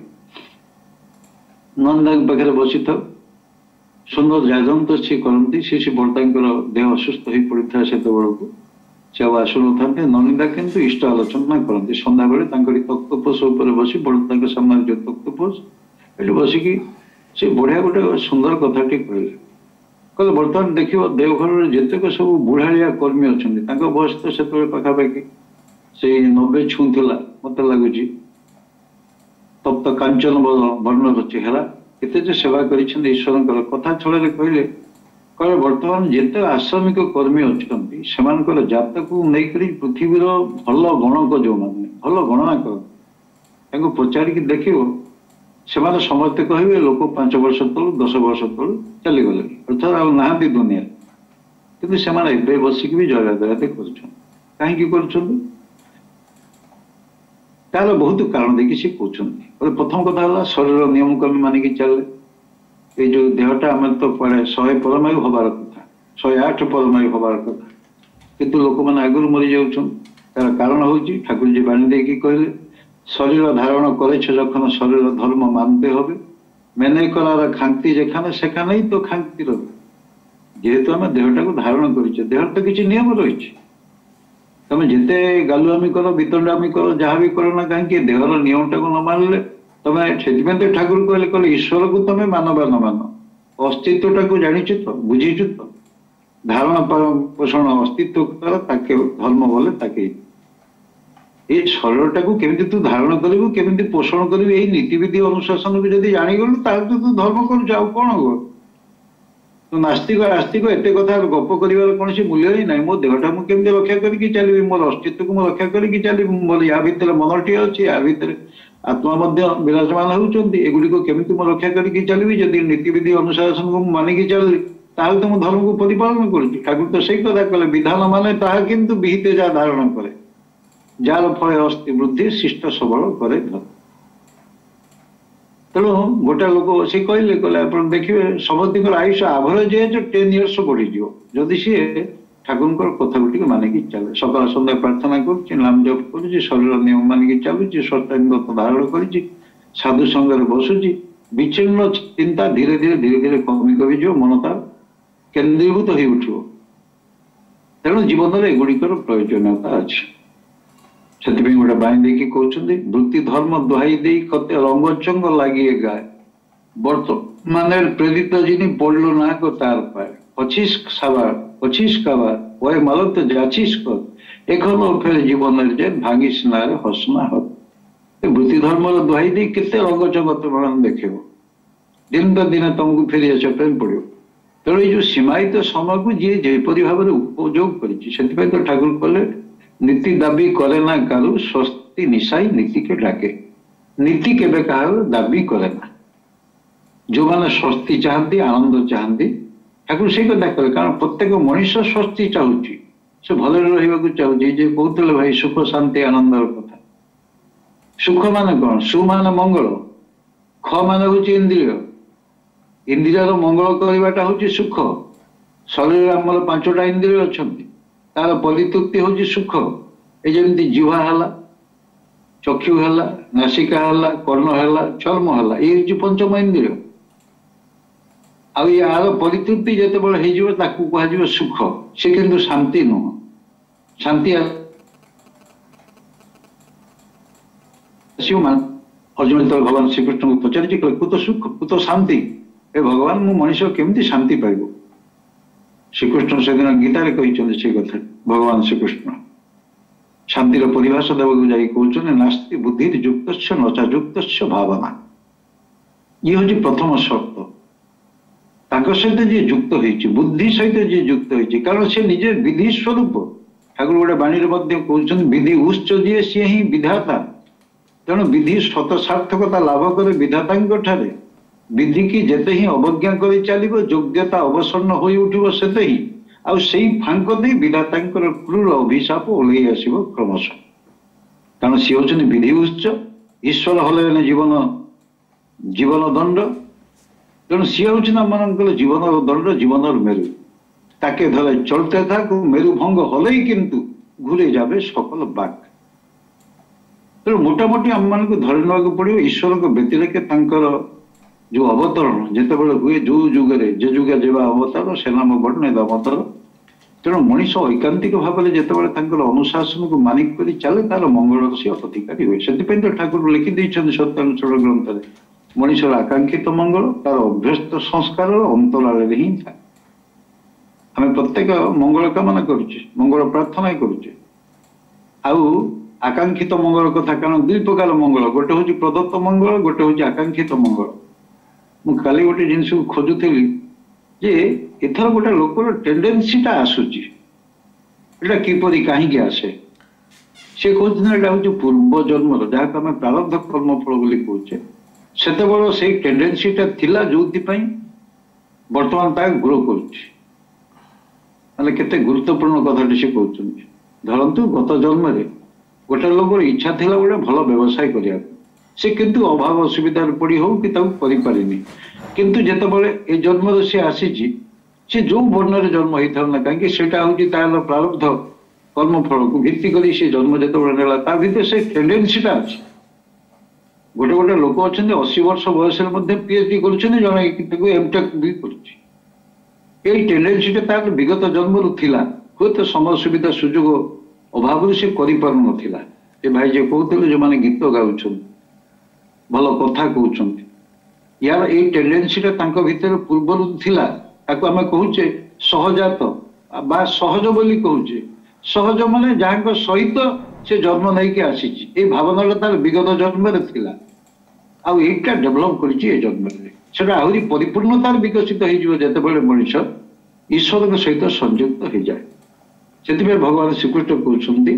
ନନ୍ଦାଙ୍କ ପାଖରେ ବସିଥାଉ। ସୁନ୍ଦର ଯାଜନ୍ତ ସିଏ କରନ୍ତି। ସେ ସେ ବଡ଼ଦାଙ୍କର ଦେହ ଅସୁସ୍ଥ ହୋଇ ପଡ଼ିଥାଏ, ସେତେବେଳକୁ ସେ ଆଉ ଆସୁନଥାନ୍ତି। ନନିଦା କିନ୍ତୁ ଇଷ୍ଟ ଆଲୋଚନା କରନ୍ତି ସନ୍ଧ୍ୟାବେଳେ ତାଙ୍କରି ତକ୍ତପୋଷ ଉପରେ ବସି, ବଡ଼ଦାଙ୍କ ସାମ୍ନାରେ ଯୋଉ ତକ୍ତପୋଷ, ଏଠି ବସିକି ସେ ବଢିଆ ଗୋଟେ ସୁନ୍ଦର କଥାଟି କହିଲେ। କହିଲେ, ବର୍ତ୍ତମାନ ଦେଖିବ ଦେଓଘରରେ ଯେତେକ ସବୁ ବୁଢାଳିଆ କର୍ମୀ ଅଛନ୍ତି, ତାଙ୍କ ବୟସ ତ ସେତେବେଳେ ପାଖାପାଖି ସେଇ ନବେ ଛୁଉଁଥିଲା ମତେ ଲାଗୁଛି। ତପ୍ତ କାଞ୍ଚନ ବର୍ଣ୍ଣର ଚେହେରା, କେତେ ଯେ ସେବା କରିଛନ୍ତି ଈଶ୍ୱରଙ୍କର। କଥା ଛଳରେ କହିଲେ, କହିଲେ ବର୍ତ୍ତମାନ ଯେତେ ଆଶ୍ରମିକ କର୍ମୀ ଅଛନ୍ତି, ସେମାନଙ୍କର ଜାତକୁ ନେଇକରି ପୃଥିବୀର ଭଲ ଗଣକ ଯୋଉମାନେ ଭଲ ଗଣନା କରନ୍ତି, ତାଙ୍କୁ ପଚାରିକି ଦେଖିବ, ସେମାନେ ସମସ୍ତେ କହିବେ ଲୋକ ପାଞ୍ଚ ବର୍ଷ ତଳୁ, ଦଶ ବର୍ଷ ତଳୁ ଚାଲିଗଲେଣି, ଅର୍ଥାତ୍ ଆଉ ନାହାନ୍ତି ଦୁନିଆରେ। କିନ୍ତୁ ସେମାନେ ଏବେ ବସିକି ବି ଜୟ ରାଧେ କରୁଛନ୍ତି। କାହିଁକି କରୁଛନ୍ତି? ତାର ବହୁତ କାରଣ ଦେଇକି ସେ କହୁଛନ୍ତି। ପ୍ରଥମ କଥା ହେଲା, ଶରୀର ନିୟମକୁ ଆମେ ମାନିକି ଚାଲିଲେ। ଏଇ ଯୋଉ ଦେହଟା ଆମେ ତ କୁଆଡେ ଶହେ ପରମାୟୁ ହବାର କଥା, ଶହେ ଆଠ ପରମାୟୁ ହବାର କଥା, କିନ୍ତୁ ଲୋକମାନେ ଆଗରୁ ମରିଯାଉଛନ୍ତି। ତାର କାରଣ ହଉଛି, ଠାକୁରଜୀ ବାଣୀ ଦେଇକି କହିଲେ, শরীর ধারণ করেছ যখন শরীর ধর্ম মানতে হবে, মেনে করার খান্তি যেখানে সেখানেই তো খান্তি রবে। ଯେହେତୁ ଆମେ ଦେହଟାକୁ ଧାରଣ କରିଛେ, ଦେହର ତ କିଛି ନିୟମ ରହିଛି। ତମେ ଯେତେ ଗାଲୁଆମି କର, ବିତଣ୍ଡାମି କର, ଯାହା ବି କର ନା କାହିଁକି, ଦେହର ନିୟମଟାକୁ ନ ମାନିଲେ ତମେ, ସେଥିପାଇଁ ତ ଠାକୁର କହିଲେ, କହିଲେ ଈଶ୍ୱରକୁ ତମେ ମାନ ବା ନ ମାନ, ଅସ୍ତିତ୍ୱଟାକୁ ଜାଣିଛୁ ତ, ବୁଝିଛୁ ତ? ଧାରଣ ପୋଷଣ ଅସ୍ତିତ୍ୱ କର, ତାକେ ଧର୍ମ ବୋଲେ ତାକେ। ଏଇ ଶରୀରଟାକୁ କେମିତି ତୁ ଧାରଣ କରିବୁ, କେମିତି ପୋଷଣ କରିବୁ, ଏଇ ନୀତିବିଧି ଅନୁଶାସନକୁ ଯଦି ଜାଣିଗଲୁ, ତାହେଲେ ତ ତୁ ଧର୍ମ କରୁଛୁ, ଆଉ କଣ ହବ? ତୁ ନାସ୍ତିକ ଆସ୍ତିକ ଏତେ କଥା ଗପ କରିବାର କୌଣସି ମୂଲ୍ୟ ହିଁ ନାହିଁ। ମୋ ଦେହଟା ମୁଁ କେମିତି ରକ୍ଷା କରିକି ଚାଲିବି, ମୋର ଅସ୍ତିତ୍ୱକୁ ମୁଁ ରକ୍ଷା କରିକି ଚାଲିବି, ମୋର ୟା ଭିତରେ ମନଟିଏ ଅଛି, ୟା ଭିତରେ ଆତ୍ମା ମଧ୍ୟ ବିରାଜମାନ ହେଉଛନ୍ତି, ଏଗୁଡିକ କେମିତି ମୁଁ ରକ୍ଷା କରିକି ଚାଲିବି? ଯଦି ନୀତିବିଧି ଅନୁଶାସନକୁ ମୁଁ ମାନିକି ଚାଲିଲି, ତାହେଲେ ତ ମୁଁ ଧର୍ମକୁ ପରିପାଳନ କରୁଛି। ଠାକୁର ତ ସେଇ କଥା କଲେ, ବିଧାନ ମାନେ ତାହା କିନ୍ତୁ ବିହିତ ଯାହା ଧାରଣ କରେ, ଯାହାର ଫଳେ ଅସ୍ଥି ବୃଦ୍ଧି ଶିଷ୍ଟ ସବଳ କରେ ଧର୍ମ। ତେଣୁ ଗୋଟେ ଲୋକ ସେ କହିଲେ, କହିଲେ ଆପଣ ଦେଖିବେ ସମସ୍ତଙ୍କର Ayush average age ten years ବଢିଯିବ, ଯଦି ସିଏ ଠାକୁରଙ୍କର କଥାକୁ ଟିକେ ମାନିକି ଚାଲେ, ସକାଳ ସନ୍ଧ୍ୟା ପ୍ରାର୍ଥନା କରୁଛି, ନାମ ଜପ କରୁଛି, ଶରୀର ନିୟମ ମାନିକି ଚାଲୁଛି, ସତ୍ୟାଙ୍ଗତ ଧାରଣ କରିଛି, ସାଧୁ ସଙ୍ଗରେ ବସୁଛି। ବିଚ୍ଛିନ୍ନ ଚିନ୍ତା ଧୀରେ ଧୀରେ ଧୀରେ ଧୀରେ କମି କମିଯିବ, ମନ ତାର କେନ୍ଦ୍ରୀଭୂତ ହେଇ ଉଠିବ। ତେଣୁ ଜୀବନରେ ଏଗୁଡିକର ପ୍ରୟୋଜନୀୟତା ଅଛି। ସେଥିପାଇଁ ଗୋଟେ ବାଣୀ ଦେଇକି କହୁଛନ୍ତି, ବୃତ୍ତି ଧର୍ମ ଦୋହାଇ ଦେଇ କତେ ରଙ୍ଗଚଙ୍ଗ ଲାଗିଏ ଗାଏ, ବର୍ତ୍ତମାনের প্রেরিত যিনি পড়ল না কো তার পায়, পঁচিশ সাবার পঁচিশ কাবার ওই মালক তো যাচ্ছিস কর, এখনো ফের জীবনের যে ভাঙিস না রে হস না হত। ବୃତ୍ତି ଧର୍ମର ଦୋହାଇ ଦେଇ କେତେ ରଙ୍ଗଚଙ୍ଗ ତୁମେ ଦେଖିବ, ଦିନ ତ ଦିନେ ତମକୁ ଫେରି ଆସିବା ପାଇଁ ପଡିବ। ତେଣୁ ଏଇ ଯୋଉ ସୀମାୟିତ ସମୟକୁ ଯିଏ ଯେପରି ଭାବରେ ଉପଯୋଗ କରିଛି, ସେଥିପାଇଁ ତ ଠାକୁର କହିଲେ, ନୀତି ଦାବି କରେ ନା କାରୁ, ସ୍ୱସ୍ତି ନିଶାଇ ନୀତିକେ ଡାକେ। ନୀତି କେବେ କାହାର ଦାବି କରେ ନା। ଯୋଉମାନେ ସ୍ୱସ୍ତି ଚାହାନ୍ତି, ଆନନ୍ଦ ଚାହାନ୍ତି, ଠାକୁର ସେଇ କଥା କଲେ। କାରଣ ପ୍ରତ୍ୟେକ ମଣିଷ ସ୍ୱସ୍ତି ଚାହୁଁଛି, ସେ ଭଲରେ ରହିବାକୁ ଚାହୁଁଛି। ଯେ କହୁଥିଲେ ଭାଇ ସୁଖ ଶାନ୍ତି ଆନନ୍ଦର କଥା, ସୁଖ ମାନେ କଣ? ସୁ ମାନେ ମଙ୍ଗଳ, ଖ ମାନେ ହଉଛି ଇନ୍ଦ୍ରିୟ। ଇନ୍ଦ୍ରିୟର ମଙ୍ଗଳ କରିବାଟା ହଉଛି ସୁଖ। ଶରୀରରେ ଆମର ପାଞ୍ଚଟା ଇନ୍ଦ୍ରିୟ ଅଛନ୍ତି, ତାର ପରିତୃପ୍ତି ହଉଛି ସୁଖ। ଏ ଯେମିତି ଜିହ୍ବା ହେଲା, ଚକ୍ଷୁ ହେଲା, ନାସିକା ହେଲା, କର୍ଣ୍ଣ ହେଲା, ଚର୍ମ ହେଲା, ଇଏ ହଉଛି ପଞ୍ଚମ ଇନ୍ଦ୍ରିୟ। ଆଉ ୟାର ପରିତୃପ୍ତି ଯେତେବେଳେ ହେଇଯିବ, ତାକୁ କୁହାଯିବ ସୁଖ। ସେ କିନ୍ତୁ ଶାନ୍ତି ନୁହଁ। ଶାନ୍ତି ଆସିବ। ଅର୍ଜୁନ ଯେତେବେଳେ ଭଗବାନ ଶ୍ରୀକୃଷ୍ଣଙ୍କୁ ପଚାରିଛି, କହିଲେ କୁତ ସୁଖ କୁତ ଶାନ୍ତି, ଏ ଭଗବାନ, ମୁଁ ମଣିଷ କେମିତି ଶାନ୍ତି ପାଇବ? ଶ୍ରୀକୃଷ୍ଣ ସେଦିନ ଗୀତାରେ କହିଛନ୍ତି ସେ କଥା। ଭଗବାନ ଶ୍ରୀକୃଷ୍ଣ ଶାନ୍ତିର ପରିଭାଷା ଦେବାକୁ ଯାଇ କହୁଛନ୍ତି, ନାସ୍ତି ବୁଦ୍ଧି ଯୁକ୍ତସ୍ୟ ନଚା ଯୁକ୍ତସ୍ୟ ଭାବନା। ଇଏ ହଉଛି ପ୍ରଥମ ସର୍ତ୍ତ। ତାଙ୍କ ସହିତ ଯିଏ ଯୁକ୍ତ ହେଇଛି, ବୁଦ୍ଧି ସହିତ ଯିଏ ଯୁକ୍ତ ହେଇଛି, କାରଣ ସେ ନିଜେ ବିଧି ସ୍ୱରୂପ। ଠାକୁର ଗୋଟେ ବାଣୀରେ ମଧ୍ୟ କହୁଛନ୍ତି, ବିଧି ଉତ୍ସ ଯିଏ ସିଏ ହିଁ ବିଧାତା। ତେଣୁ ବିଧି ସ୍ୱତ ସାର୍ଥକତା ଲାଭ କରେ ବିଧାତାଙ୍କ ଠାରେ। ବିଧିକି ଯେତେ ହିଁ ଅବଜ୍ଞା କରି ଚାଲିବ, ଯୋଗ୍ୟତା ଅବସନ୍ନ ହୋଇ ଉଠିବ ସେତେ ହିଁ, ଆଉ ସେଇ ଫାଙ୍କ ଦେଇ ବିଧାତାଙ୍କର କ୍ରୂର ଅଭିଶାପ ଓହ୍ଲେଇ ଆସିବ କ୍ରମଶଃ। କାରଣ ସିଏ ହଉଛନ୍ତି ବିଧି ଉତ୍ସ। ଈଶ୍ୱର ହେଲେ ଜୀବନ ଜୀବନ ଦଣ୍ଡ। ତେଣୁ ସିଏ ହଉଛନ୍ତି ଆମମାନଙ୍କର ଜୀବନର ଦଣ୍ଡ, ଜୀବନର ମେରୁ। ତାকে ଧরে চলতে থাক, মেরু ভঙ্গ হলেই কিন্তু ঘুরে যাবে সকল বাক। ତେଣୁ ମୋଟାମୋଟି ଆମମାନଙ୍କୁ ଧରି ନେବାକୁ ପଡିବ, ଈଶ୍ୱରଙ୍କ ବ୍ୟତିରେକ ତାଙ୍କର ଯୋଉ ଅବତରଣ ଯେତେବେଳେ ହୁଏ, ଯୋଉ ଯୁଗରେ ଯେ ଯୁଗେ ଯେବା ଅବତାର ସେ ନାମ ବର୍ଣ୍ଣେ ଦାମୋଦର। ତେଣୁ ମଣିଷ ଐକାନ୍ତିକ ଭାବରେ ଯେତେବେଳେ ତାଙ୍କର ଅନୁଶାସନକୁ ମାନିକ କରି ଚାଲେ, ତାର ମଙ୍ଗଳର ସେ ଅଧିକାରୀ ହୁଏ। ସେଥିପାଇଁ ତ ଠାକୁର ଲେଖି ଦେଇଛନ୍ତି ସତ୍ୟାନୁସରଣ ଗ୍ରନ୍ଥରେ, ମଣିଷର ଆକାଂକ୍ଷିତ ମଙ୍ଗଳ ତାର ଅଭ୍ୟସ୍ତ ସଂସ୍କାରର ଅନ୍ତରାଳରେ ହିଁ ଥାଏ। ଆମେ ପ୍ରତ୍ୟେକ ମଙ୍ଗଳ କାମନା କରୁଛେ, ମଙ୍ଗଳ ପ୍ରାର୍ଥନା କରୁଛେ, ଆଉ ଆକାଂକ୍ଷିତ ମଙ୍ଗଳ କଥା, କାରଣ ଦୁଇ ପ୍ରକାର ମଙ୍ଗଳ, ଗୋଟେ ହଉଛି ପ୍ରଦତ୍ତ ମଙ୍ଗଳ, ଗୋଟେ ହଉଛି ଆକାଂକ୍ଷିତ ମଙ୍ଗଳ। ମୁଁ କାଲି ଗୋଟେ ଜିନିଷକୁ ଖୋଜୁଥିଲି ଯେ ଏଥର ଗୋଟେ ଲୋକର ଟେଣ୍ଡେନ୍ସିଟା ଆସୁଛି, ଏଇଟା କିପରି କାହିଁକି ଆସେ? ସେ କହୁଛନ୍ତି ଏଇଟା ହଉଛି ପୂର୍ବ ଜନ୍ମର, ଯାହାକୁ ଆମେ ପ୍ରାରବ୍ଧ କର୍ମଫଳ ବୋଲି କହୁଛେ। ସେତେବେଳେ ସେଇ ଟେଣ୍ଡେନ୍ସିଟା ଥିଲା, ଯୋଉଥିପାଇଁ ବର୍ତ୍ତମାନ ତାହା ଗ୍ରୋ କରୁଛି। ମାନେ କେତେ ଗୁରୁତ୍ୱପୂର୍ଣ୍ଣ କଥାଟି ସେ କହୁଛନ୍ତି। ଧରନ୍ତୁ ଗତ ଜନ୍ମରେ ଗୋଟେ ଲୋକର ଇଚ୍ଛା ଥିଲା ଗୋଟେ ଭଲ ବ୍ୟବସାୟ କରିବାକୁ, ସେ କିନ୍ତୁ ଅଭାବ ଅସୁବିଧାରେ ପଡି ହଉ କି ତାକୁ କରିପାରିନି। କିନ୍ତୁ ଯେତେବେଳେ ଏ ଜନ୍ମରେ ସେ ଆସିଛି, ସେ ଯୋଉ ବର୍ଣ୍ଣରେ ଜନ୍ମ ହେଇଥାଉ ନା କାହିଁକି, ସେଇଟା ହଉଛି ତାର ପ୍ରାରବ୍ଧ କର୍ମଫଳକୁ ଭିତ୍ତି କରି ସେ ଜନ୍ମ ଯେତେବେଳେ ନେଲା, ତା ଭିତରେ ସେ ଟେଣ୍ଡେନ୍ସିଟା ଅଛି। ଗୋଟେ ଗୋଟେ ଲୋକ ଅଛନ୍ତି ଅଶୀ ବର୍ଷ ବୟସରେ ମଧ୍ୟ ପି ଏଚ୍ ଡି କରୁଛନ୍ତି, ଜଣେ ତାକୁ ଏମଟେକ୍ ବି କରୁଛି। ଏଇ ଟେଣ୍ଡେନ୍ସିଟା ତାର ବିଗତ ଜନ୍ମରୁ ଥିଲା, ହୁଏତ ସମୟ ସୁବିଧା ସୁଯୋଗ ଅଭାବରୁ ସେ କରିପାରୁନଥିଲା। ଏ ଭାଇ ଯିଏ କହୁଥିଲେ, ଯୋଉମାନେ ଗୀତ ଗାଉଛନ୍ତି, ଭଲ କଥା କହୁଛନ୍ତି, ୟାର ଏଇ ଟେଣ୍ଡେନ୍ସିଟା ତାଙ୍କ ଭିତରେ ପୂର୍ବରୁ ଥିଲା। ତାକୁ ଆମେ କହୁଛେ ସହଜାତ ବା ସହଜ ବୋଲି କହୁଛେ। ସହଜ ମାନେ ଯାହାଙ୍କ ସହିତ ସେ ଜନ୍ମ ନେଇକି ଆସିଛି, ଏଇ ଭାବନାଟା ତାର ବିଗତ ଜନ୍ମରେ ଥିଲା, ଆଉ ଏଇଟା ଡେଭଲପ କରିଛି ଏ ଜନ୍ମରେ। ସେଟା ଆହୁରି ପରିପୂର୍ଣ୍ଣତାର ବିକଶିତ ହେଇଯିବ ଯେତେବେଳେ ମଣିଷ ଈଶ୍ୱରଙ୍କ ସହିତ ସଂଯୁକ୍ତ ହେଇଯାଏ। ସେଥିପାଇଁ ଭଗବାନ ଶ୍ରୀକୃଷ୍ଣ କହୁଛନ୍ତି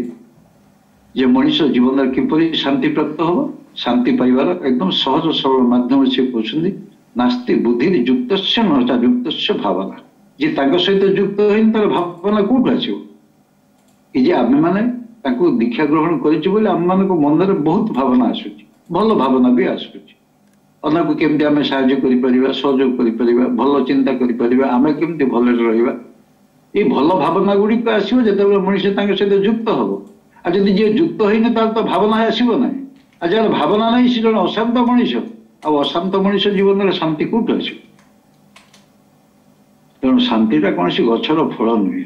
ଯେ ମଣିଷ ଜୀବନରେ କିପରି ଶାନ୍ତି ପ୍ରାପ୍ତ ହବ, ଶାନ୍ତି ପାଇବାର ଏକଦମ ସହଜ ସରଳ ମାଧ୍ୟମ ସେ କହୁଛନ୍ତି, ନାସ୍ତି ବୁଦ୍ଧି ଯୁକ୍ତସ୍ୟ ନଚା ଯୁକ୍ତସ୍ୟ ଭାବନା। ଯିଏ ତାଙ୍କ ସହିତ ଯୁକ୍ତ ହେଇନି, ତାର ଭାବନା କୋଉଠୁ ଆସିବ? ଏ ଯେ ଆମେମାନେ ତାଙ୍କୁ ଦୀକ୍ଷା ଗ୍ରହଣ କରିଛୁ ବୋଲି ଆମମାନଙ୍କ ମନରେ ବହୁତ ଭାବନା ଆସୁଛି, ଭଲ ଭାବନା ବି ଆସୁଛି। ଅନ୍ୟକୁ କେମିତି ଆମେ ସାହାଯ୍ୟ କରିପାରିବା, ସହଯୋଗ କରିପାରିବା, ଭଲ ଚିନ୍ତା କରିପାରିବା, ଆମେ କେମିତି ଭଲରେ ରହିବା, ଏଇ ଭଲ ଭାବନା ଗୁଡ଼ିକ ଆସିବ ଯେତେବେଳେ ମଣିଷ ତାଙ୍କ ସହିତ ଯୁକ୍ତ ହବ। ଆଉ ଯଦି ଯିଏ ଯୁକ୍ତ ହେଇନି, ତାର ତ ଭାବନା ଆସିବ ନାହିଁ। ଆଉ ଯାହାର ଭାବନା ନାହିଁ, ସେ ଜଣେ ଅଶାନ୍ତ ମଣିଷ। ଆଉ ଅଶାନ୍ତ ମଣିଷ ଜୀବନରେ ଶାନ୍ତି କୋଉଠୁ ଆସିବ? ତେଣୁ ଶାନ୍ତିଟା କୌଣସି ଗଛର ଫଳ ନୁହେଁ।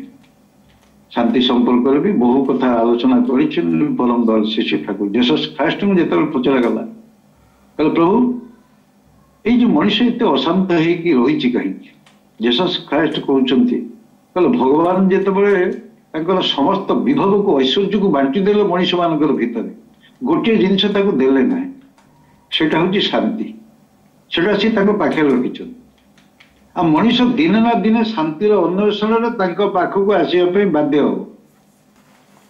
ଶାନ୍ତି ସମ୍ପର୍କରେ ବି ବହୁ କଥା ଆଲୋଚନା କରିଛନ୍ତି ପରମ ଦୟାଲ ଶ୍ରୀ ଶ୍ରୀ ଠାକୁର। ଜେସସ୍ ଖ୍ରାଇଷ୍ଟଙ୍କୁ ଯେତେବେଳେ ପଚରାଗଲା, କହିଲେ ପ୍ରଭୁ, ଏଇ ଯୋଉ ମଣିଷ ଏତେ ଅଶାନ୍ତ ହେଇକି ରହିଛି କାହିଁକି? ଜେସସ୍ ଖ୍ରାଇଷ୍ଟ କହୁଛନ୍ତି, କହିଲେ ଭଗବାନ ଯେତେବେଳେ ତାଙ୍କର ସମସ୍ତ ବିଭବକୁ, ଐଶ୍ୱର୍ଯ୍ୟକୁ ବାଣ୍ଟି ଦେଲେ ମଣିଷ ମାନଙ୍କର ଭିତରେ, ଗୋଟିଏ ଜିନିଷ ତାକୁ ଦେଲେ ନାହିଁ, ସେଇଟା ହଉଛି ଶାନ୍ତି। ସେଟା ସେ ତାଙ୍କ ପାଖରେ ରଖିଛନ୍ତି। ଆଉ ମଣିଷ ଦିନେ ନା ଦିନେ ଶାନ୍ତିର ଅନ୍ୱେଷଣରେ ତାଙ୍କ ପାଖକୁ ଆସିବା ପାଇଁ ବାଧ୍ୟ ହବ।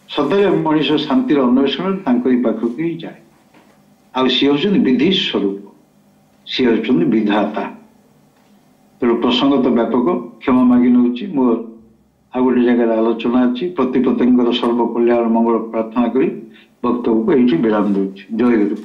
ସତରେ ମଣିଷ ଶାନ୍ତିର ଅନ୍ୱେଷଣରେ ତାଙ୍କରି ପାଖକୁ ହିଁ ଯାଏ। ଆଉ ସିଏ ହଉଛନ୍ତି ବିଧି ସ୍ୱରୂପ, ସିଏ ହଉଛନ୍ତି ବିଧାତା। ତେଣୁ ପ୍ରସଙ୍ଗ ତ ବ୍ୟାପକ, କ୍ଷମା ମାଗି ନେଉଛି। ମୋର ଆଉ ଗୋଟେ ଜାଗାରେ ଆଲୋଚନା ଅଛି। ପ୍ରତି ପ୍ରତ୍ୟେକଙ୍କର ସର୍ବକଲ୍ୟାଣ ମଙ୍ଗଳ ପ୍ରାର୍ଥନା କରି ବକ୍ତବ୍ୟକୁ ଏଇଠି ବିରାମ ଦେଉଛି। ଜୟ ଗୁରୁ।